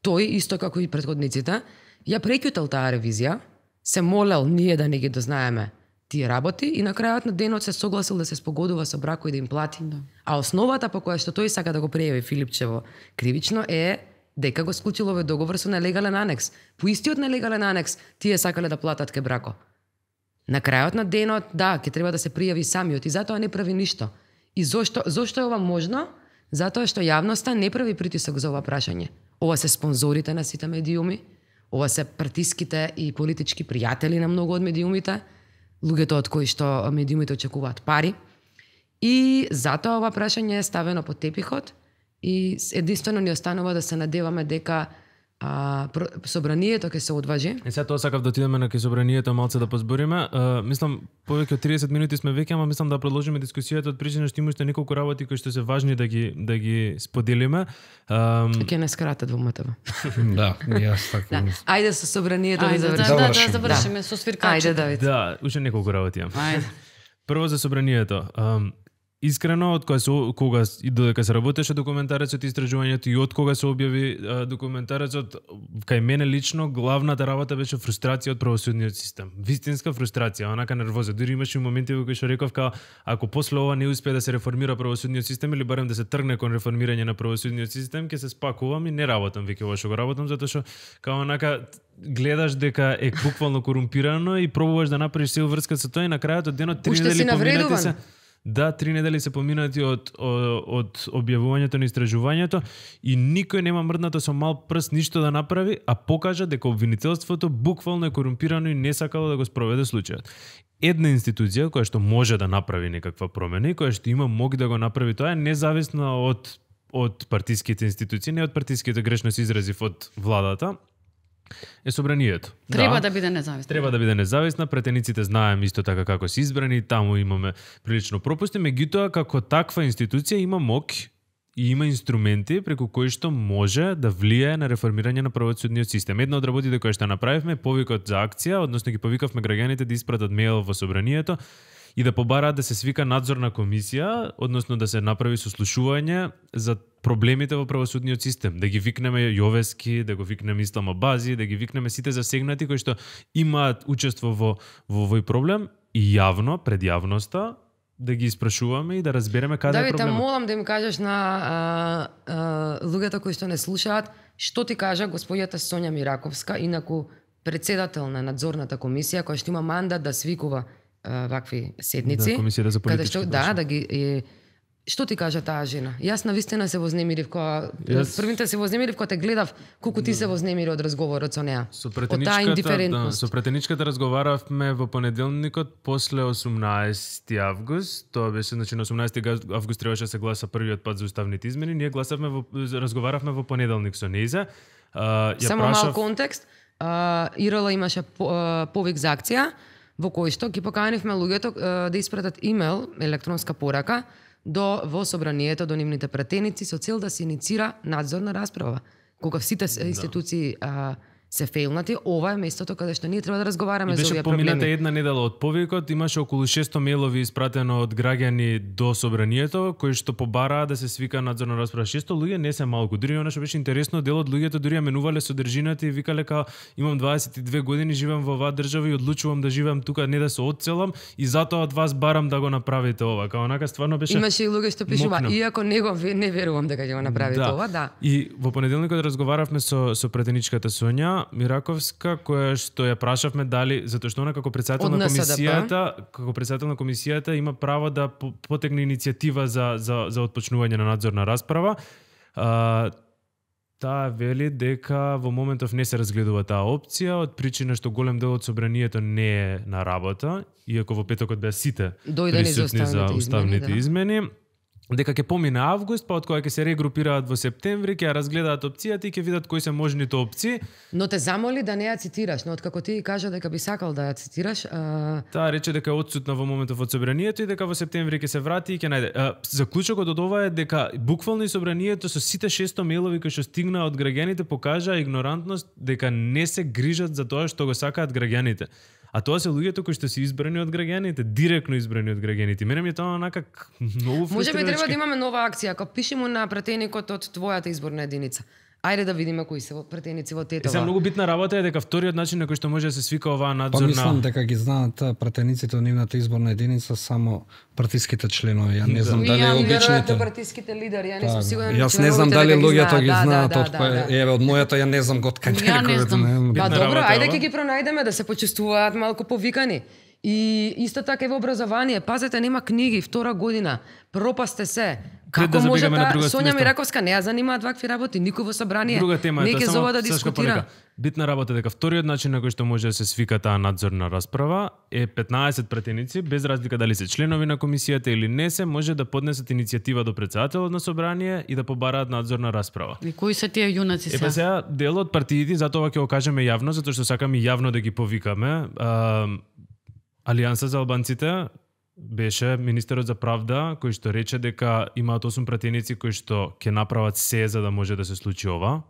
Тој, исто како и претходниците, ја прекјутал таа ревизија, се молел ние да не ги дознаеме тие работи и на крајот на денот се согласил да се спогодува со Брако и да им плати. Да. А основата по која што тој сака да го пријави Филипчево кривично е дека го склучил овој договор со нелегален анекс. По истиот нелегален анекс тие сакале да платат ке Брако. На крајот на денот, да, ќе треба да се пријави самиот и затоа не прави ништо. И зошто зошто е ова можно? Затоа што јавноста не прави притисок за ова прашање. Ова се спонзорите на сите медиуми, ова се партиските и политички пријатели на многу од медиумите, луѓето од кои што медиумите очекуваат пари. И затоа ова прашање е ставено под тепихот и единствено ни останува да се надеваме дека а, про- собранието ќе се одважи. И сега тоа сакав да отидеме на ке собранието малце да позбориме. Uh, мислам повеќе од триесет минути сме веќе, ама мислам да продолжиме дискусијата од причина што има уште неколку работи кои што се важни да ги да ги споделиме. Um, Ќе не скратат во МТВ. Да, и јас така Да. мислам. Ајде со собранието да Ајде, да, да, завршиме. да, Завршим. завршиме со свиркачите. Ајде, Давид. да, уште неколку работи имам. Ајде. Прво за собранието. Um, Искрено, од кога се, кога и додека се работеше документарецот и истражувањето и од кога се објави а, документарецот, кај мене лично главната работа беше фрустрација од правосудниот систем. Вистинска фрустрација, онака нервоза. Дури имаше и моменти во кои што реков као ако после ова не успее да се реформира правосудниот систем или барем да се тргне кон реформирање на правосудниот систем, ќе се спакувам и не работам веќе ова што го работам затоа што као онака гледаш дека е буквално корумпирано и пробуваш да направиш се врска со тоа и на крајот од денот три Уште недели си поминати навредуван. се. Да, три недели се поминати од, од, од објавувањето на истражувањето и никој нема мрднато со мал прст ништо да направи, а покажа дека обвинителството буквално е корумпирано и не сакало да го спроведе случајот. Една институција која што може да направи некаква промена и која што има моги да го направи тоа е независна од од партиските институции, не од партиските, грешно се изразив, од владата, е собранието. Треба да биде независна. Треба да биде независна, претениците знаеме исто така како се избрани, таму имаме прилично пропусти, меѓутоа како таква институција има мок и има инструменти преку кои што може да влијае на реформирање на правосудниот систем. Една од работите кои што направивме, повикот за акција, односно ги повикавме граѓаните да испратат мејл во собранието и да побараат да се свика надзорна комисија, односно да се направи сослушување за проблемите во правосудниот систем, да ги викнеме Јовески, да го викнеме Ислама Бази, да ги викнеме сите засегнати кои што имаат учество во во овој проблем и јавно пред јавноста да ги испрашуваме и да разбереме каде е Давид, те проблемот. молам да им кажеш на а, а, луѓето кои што не слушаат, што ти кажа господјата Сонја Мираковска, инаку председател на надзорната комисија, која што има мандат да свикува а, вакви седници. Да, комисијата за каде политички што, прашања. да, да ги е, Што ти кажа таа жена? Јас навистина се вознемирив кога Јас- првите се вознемирив кога те гледав колку ти се вознемири од разговорот со неа. Со Од таа претеничката, да, индиферентност. со претеничката разговаравме во понеделникот после осумнаесети август. Тоа беше, значи на осумнаесети август требаше да се гласа првиот пат за уставните измени. Ние гласавме во разговаравме во понеделник со нејза. А, ја Само прашав... мал контекст, а, ИРЛ имаше по, а, повик за акција во кој што ги поканивме луѓето а, да испратат имейл, електронска порака до во собранието до нивните пратеници со цел да се иницира надзорна расправа. Кога сите Да. институции а, се фейлнати, ова е местото каде што ние треба да разговараме И за беше овие помината проблеми. една недела од повикот, имаше околу шесто мејлови испратено од граѓани до собранието, кои што побараа да се свика надзорна расправа. шесто луѓе не се малку. Дури она што беше интересно, дел од луѓето дури ја менувале содржината и викале као имам дваесет и две години, живеам во оваа држава и одлучувам да живеам тука, не да се одселам и затоа од вас барам да го направите ова. Као онака стварно беше Имаше и луѓе што пишува, мокно. иако не го ве- не верувам дека ќе го направите ова, да. И во понеделникот разговаравме со со претеничката Сонја Мираковска, која што ја прашавме дали затоа што она како председател Од на НСДП. комисијата, како председател на комисијата има право да по- потегне иницијатива за за за отпочнување на надзорна расправа. А, таа вели дека во моментов не се разгледува таа опција од причина што голем дел од собранието не е на работа, иако во петокот беа сите Дојдени за присутни за уставните уставните измени, да. измени. Дека ќе помине август, па од кога ќе се регрупираат во септември, ќе ја разгледаат опцијата и ќе видат кои се можните опции. Но те замоли да не ја цитираш, но откако ти кажа дека би сакал да ја цитираш, а, Таа рече дека е отсутна во моментов од собранието и дека во септември ќе се врати и ќе најде. А, заклучокот од ова е дека буквално и собранието со сите шесто мејлови кои што стигнаа од граѓаните покажаа игнорантност дека не се грижат за тоа што го сакаат граѓаните. А тоа се луѓето кои што се избрани од граѓаните, директно избрани од граѓаните. Мене ми е тоа онака к- многу фрустрирачки. може би треба да имаме нова акција, ако пиши му на пратеникот од твојата изборна единица. Ајде да видиме кои се во- пратеници во Е, сега Тетова. многу битна работа е дека вториот начин на кој што може да се свика оваа Па надзорна... мислам дека ги знаат а, пратениците од нивната изборна единица само партиските членови. Ја не знам дали Ја, обичните. веројатно партиските лидери, ја не сум Така, сигурна. Јас че не знам членовите дали дека луѓето ги да, знаат да, од да, кој да. еве од мојата ја не знам од кај Ја не некој. знам. знам. Па Битна добро, работа ајде ова. ќе ги пронајдеме да се почувствуваат малку повикани. И исто така и во образование, пазете, нема книги, втора година, пропасте се. Пред да Како може забегаме на таа друга Сонја место. Мираковска не ја занимаат вакви работи, никој во собрание. Друга тема не е тоа, ќе само зова да Сашка дискутира. порека. Битна работа е дека вториот начин на кој што може да се свика таа надзорна расправа е петнаесет пратеници, без разлика дали се членови на комисијата или не се, може да поднесат иницијатива до председателот на собрание и да побараат надзорна расправа. И кои се тие јунаци Е, па се? сега, дел од партиите, затоа ќе го кажеме јавно, затоа што сакаме јавно да ги повикаме. А, Алијанса за албанците беше министерот за правда, кој што рече дека имаат осум пратеници кои што ќе направат се за да може да се случи ова.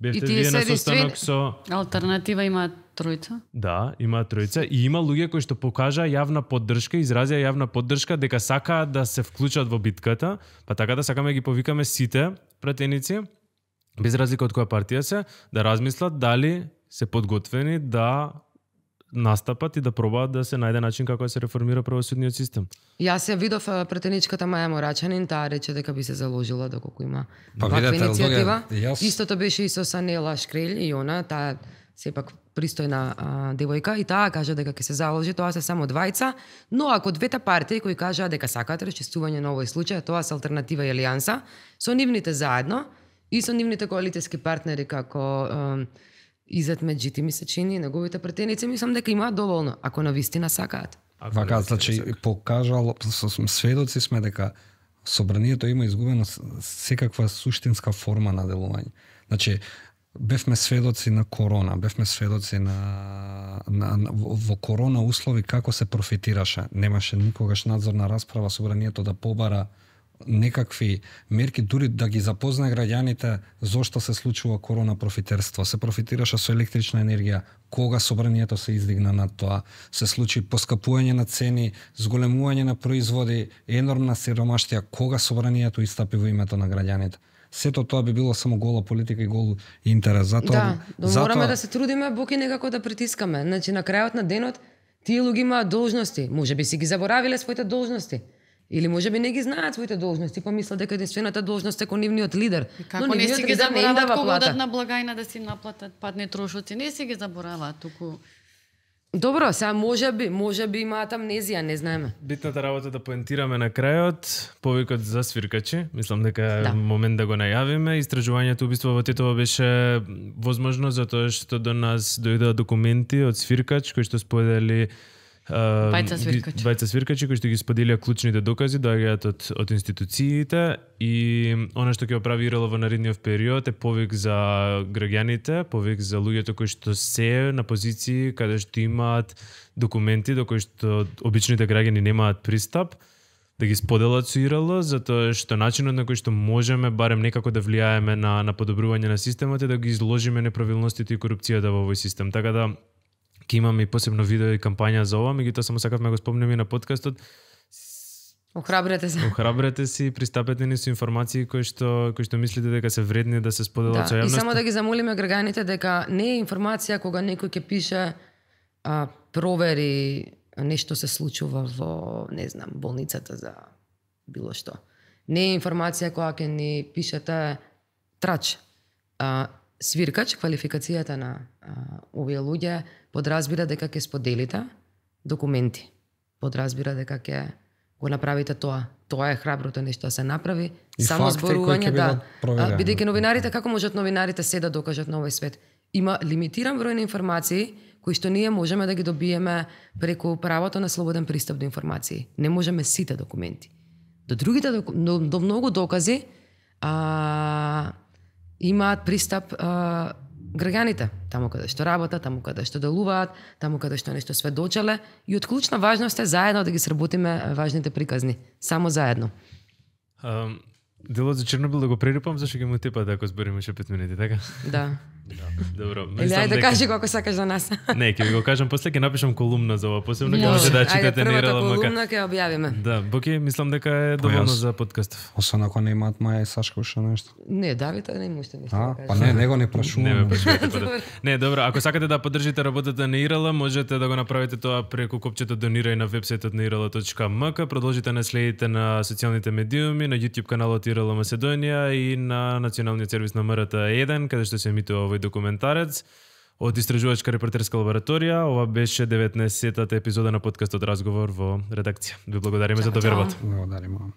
Бевте И тие вие на се состанок единствени- со... Алтернатива има тројца. Да, има тројца и има луѓе кои што покажаа јавна поддршка, изразија јавна поддршка дека сакаат да се вклучат во битката, па така да сакаме да ги повикаме сите пратеници, без разлика од која партија се, да размислат дали се подготвени да настапат и да пробаат да се најде начин како да се реформира правосудниот систем. Јас ја видов а, пратеничката Маја Морачанин, таа рече дека би се заложила доколку има Па ваква видете, иницијатива. луѓе, јас- Истото беше и со Санела Шкрелј и она, таа сепак пристојна а, девојка и таа кажа дека ќе се заложи, тоа се само двајца, но ако двете партии кои кажаа дека сакаат расчистување на овој случај, тоа се алтернатива и алијанса, со нивните заедно и со нивните коалицијски партнери како а, Изет Меджити ми се чини, неговите пратеници, мислам дека имаат доволно, ако навистина сакаат. Вака, значи, покажал, со сведоци сме дека собранието има изгубено с- секаква суштинска форма на делување. Значи, бевме сведоци на корона, бевме сведоци на, на, на во во корона услови како се профитираше. Немаше никогаш надзорна расправа, собранието да побара некакви мерки, дури да ги запознае граѓаните зошто се случува корона профитерство. Се профитираше со електрична енергија, кога собранието се издигна над тоа. Се случи поскапување на цени, зголемување на производи, енормна сиромаштија, кога собранието истапи во името на граѓаните. Сето тоа би било само гола политика и гол интерес. Затоа, Да, но затоа... мораме да се трудиме буки некако да притискаме. Значи на крајот на денот тие луѓе имаат должности, можеби си ги заборавиле своите должности. Или можеби не ги знаат своите должности, па мислат дека единствената должност е кон нивниот лидер. Како Но не нивниот си ги лидер не им забораваат дава кога плата. одат на благајна да си наплатат падни трошоци, не си ги забораваат туку Добро, сега може би, може би имаат амнезија, не знаеме. Битната работа да поентираме на крајот, повикот за свиркачи, мислам дека е Да. момент да го најавиме. Истражувањето убиство во Тетово беше возможно затоа што до нас дојдоа документи од свиркач кои што сподели Uh, Бајца свиркач. Бајца свиркачи кои што ги споделија клучните докази доаѓаат од од институциите и она што ќе оправи ИРЛ во наредниот период е повик за граѓаните, повик за луѓето кои што се на позиции каде што имаат документи до кои што обичните граѓани немаат пристап, да ги споделат со ИРЛ, затоа што начинот на кој што можеме барем некако да влијаеме на на подобрување на системот е да ги изложиме неправилностите и корупцијата во овој систем. Така да ќе имаме и посебно видео и кампања за ова, меѓутоа само сакавме го спомнеме и на подкастот. Охрабрете се. Охрабрете се и пристапете ни со информации кои што кои што мислите дека се вредни да се споделат со Да, и јавноста. само да ги замолиме граѓаните дека не е информација кога некој ќе пише а, провери нешто се случува во, не знам, болницата за било што. Не е информација која ќе ни пишете трач. А, свиркач, квалификацијата на а, овие луѓе подразбира дека ќе споделите документи. Подразбира дека ќе го направите тоа. Тоа е храброто нешто да се направи. И Само факти кои ќе зборување, да. бидат проверени. А, бидејќи новинарите, како можат новинарите се да докажат на овој свет? Има лимитиран број на информации кои што ние можеме да ги добиеме преку правото на слободен пристап до информации. Не можеме сите документи. До другите доку... до, до многу докази а, имаат пристап а, граѓаните, таму каде што работат, таму каде што делуваат, таму каде што нешто сведочеле и од клучна важност е заедно да ги сработиме важните приказни, само заедно. Um, делот за Чернобил да го прерипам, зашто ќе му тепат ако збориме уште пет минути, така? Да. Добро. Или мислам ајде да дека- кажи како сакаш за нас. Не, ќе ви го кажам после, ќе напишам колумна за ова, посебно ќе Може. може да Ајде, читате првата Нерала Мака. колумна ќе објавиме. Да, Боки, мислам дека е доволно јас- за подкастов. Освен ако не имаат Маја и Сашка уште нешто. Не, Давид, не има уште нешто А, да кажеш. па не, него не Не ме прашуваме. прашувате па да. Не, добро, ако сакате да поддржите работата на ИРЛ, можете да го направите тоа преку копчето донирај на вебсајтот на ирл точка ем ка, продолжите да следите на социјалните медиуми, на YouTube каналот ИРЛ Македонија и на националниот сервис на МРТ еден, каде што се емитува овој документарец од Истражувачка репортерска лабораторија. Ова беше деветнаесеттата епизода на подкастот Разговор во редакција. Ви благодариме за довербата. Благодариме.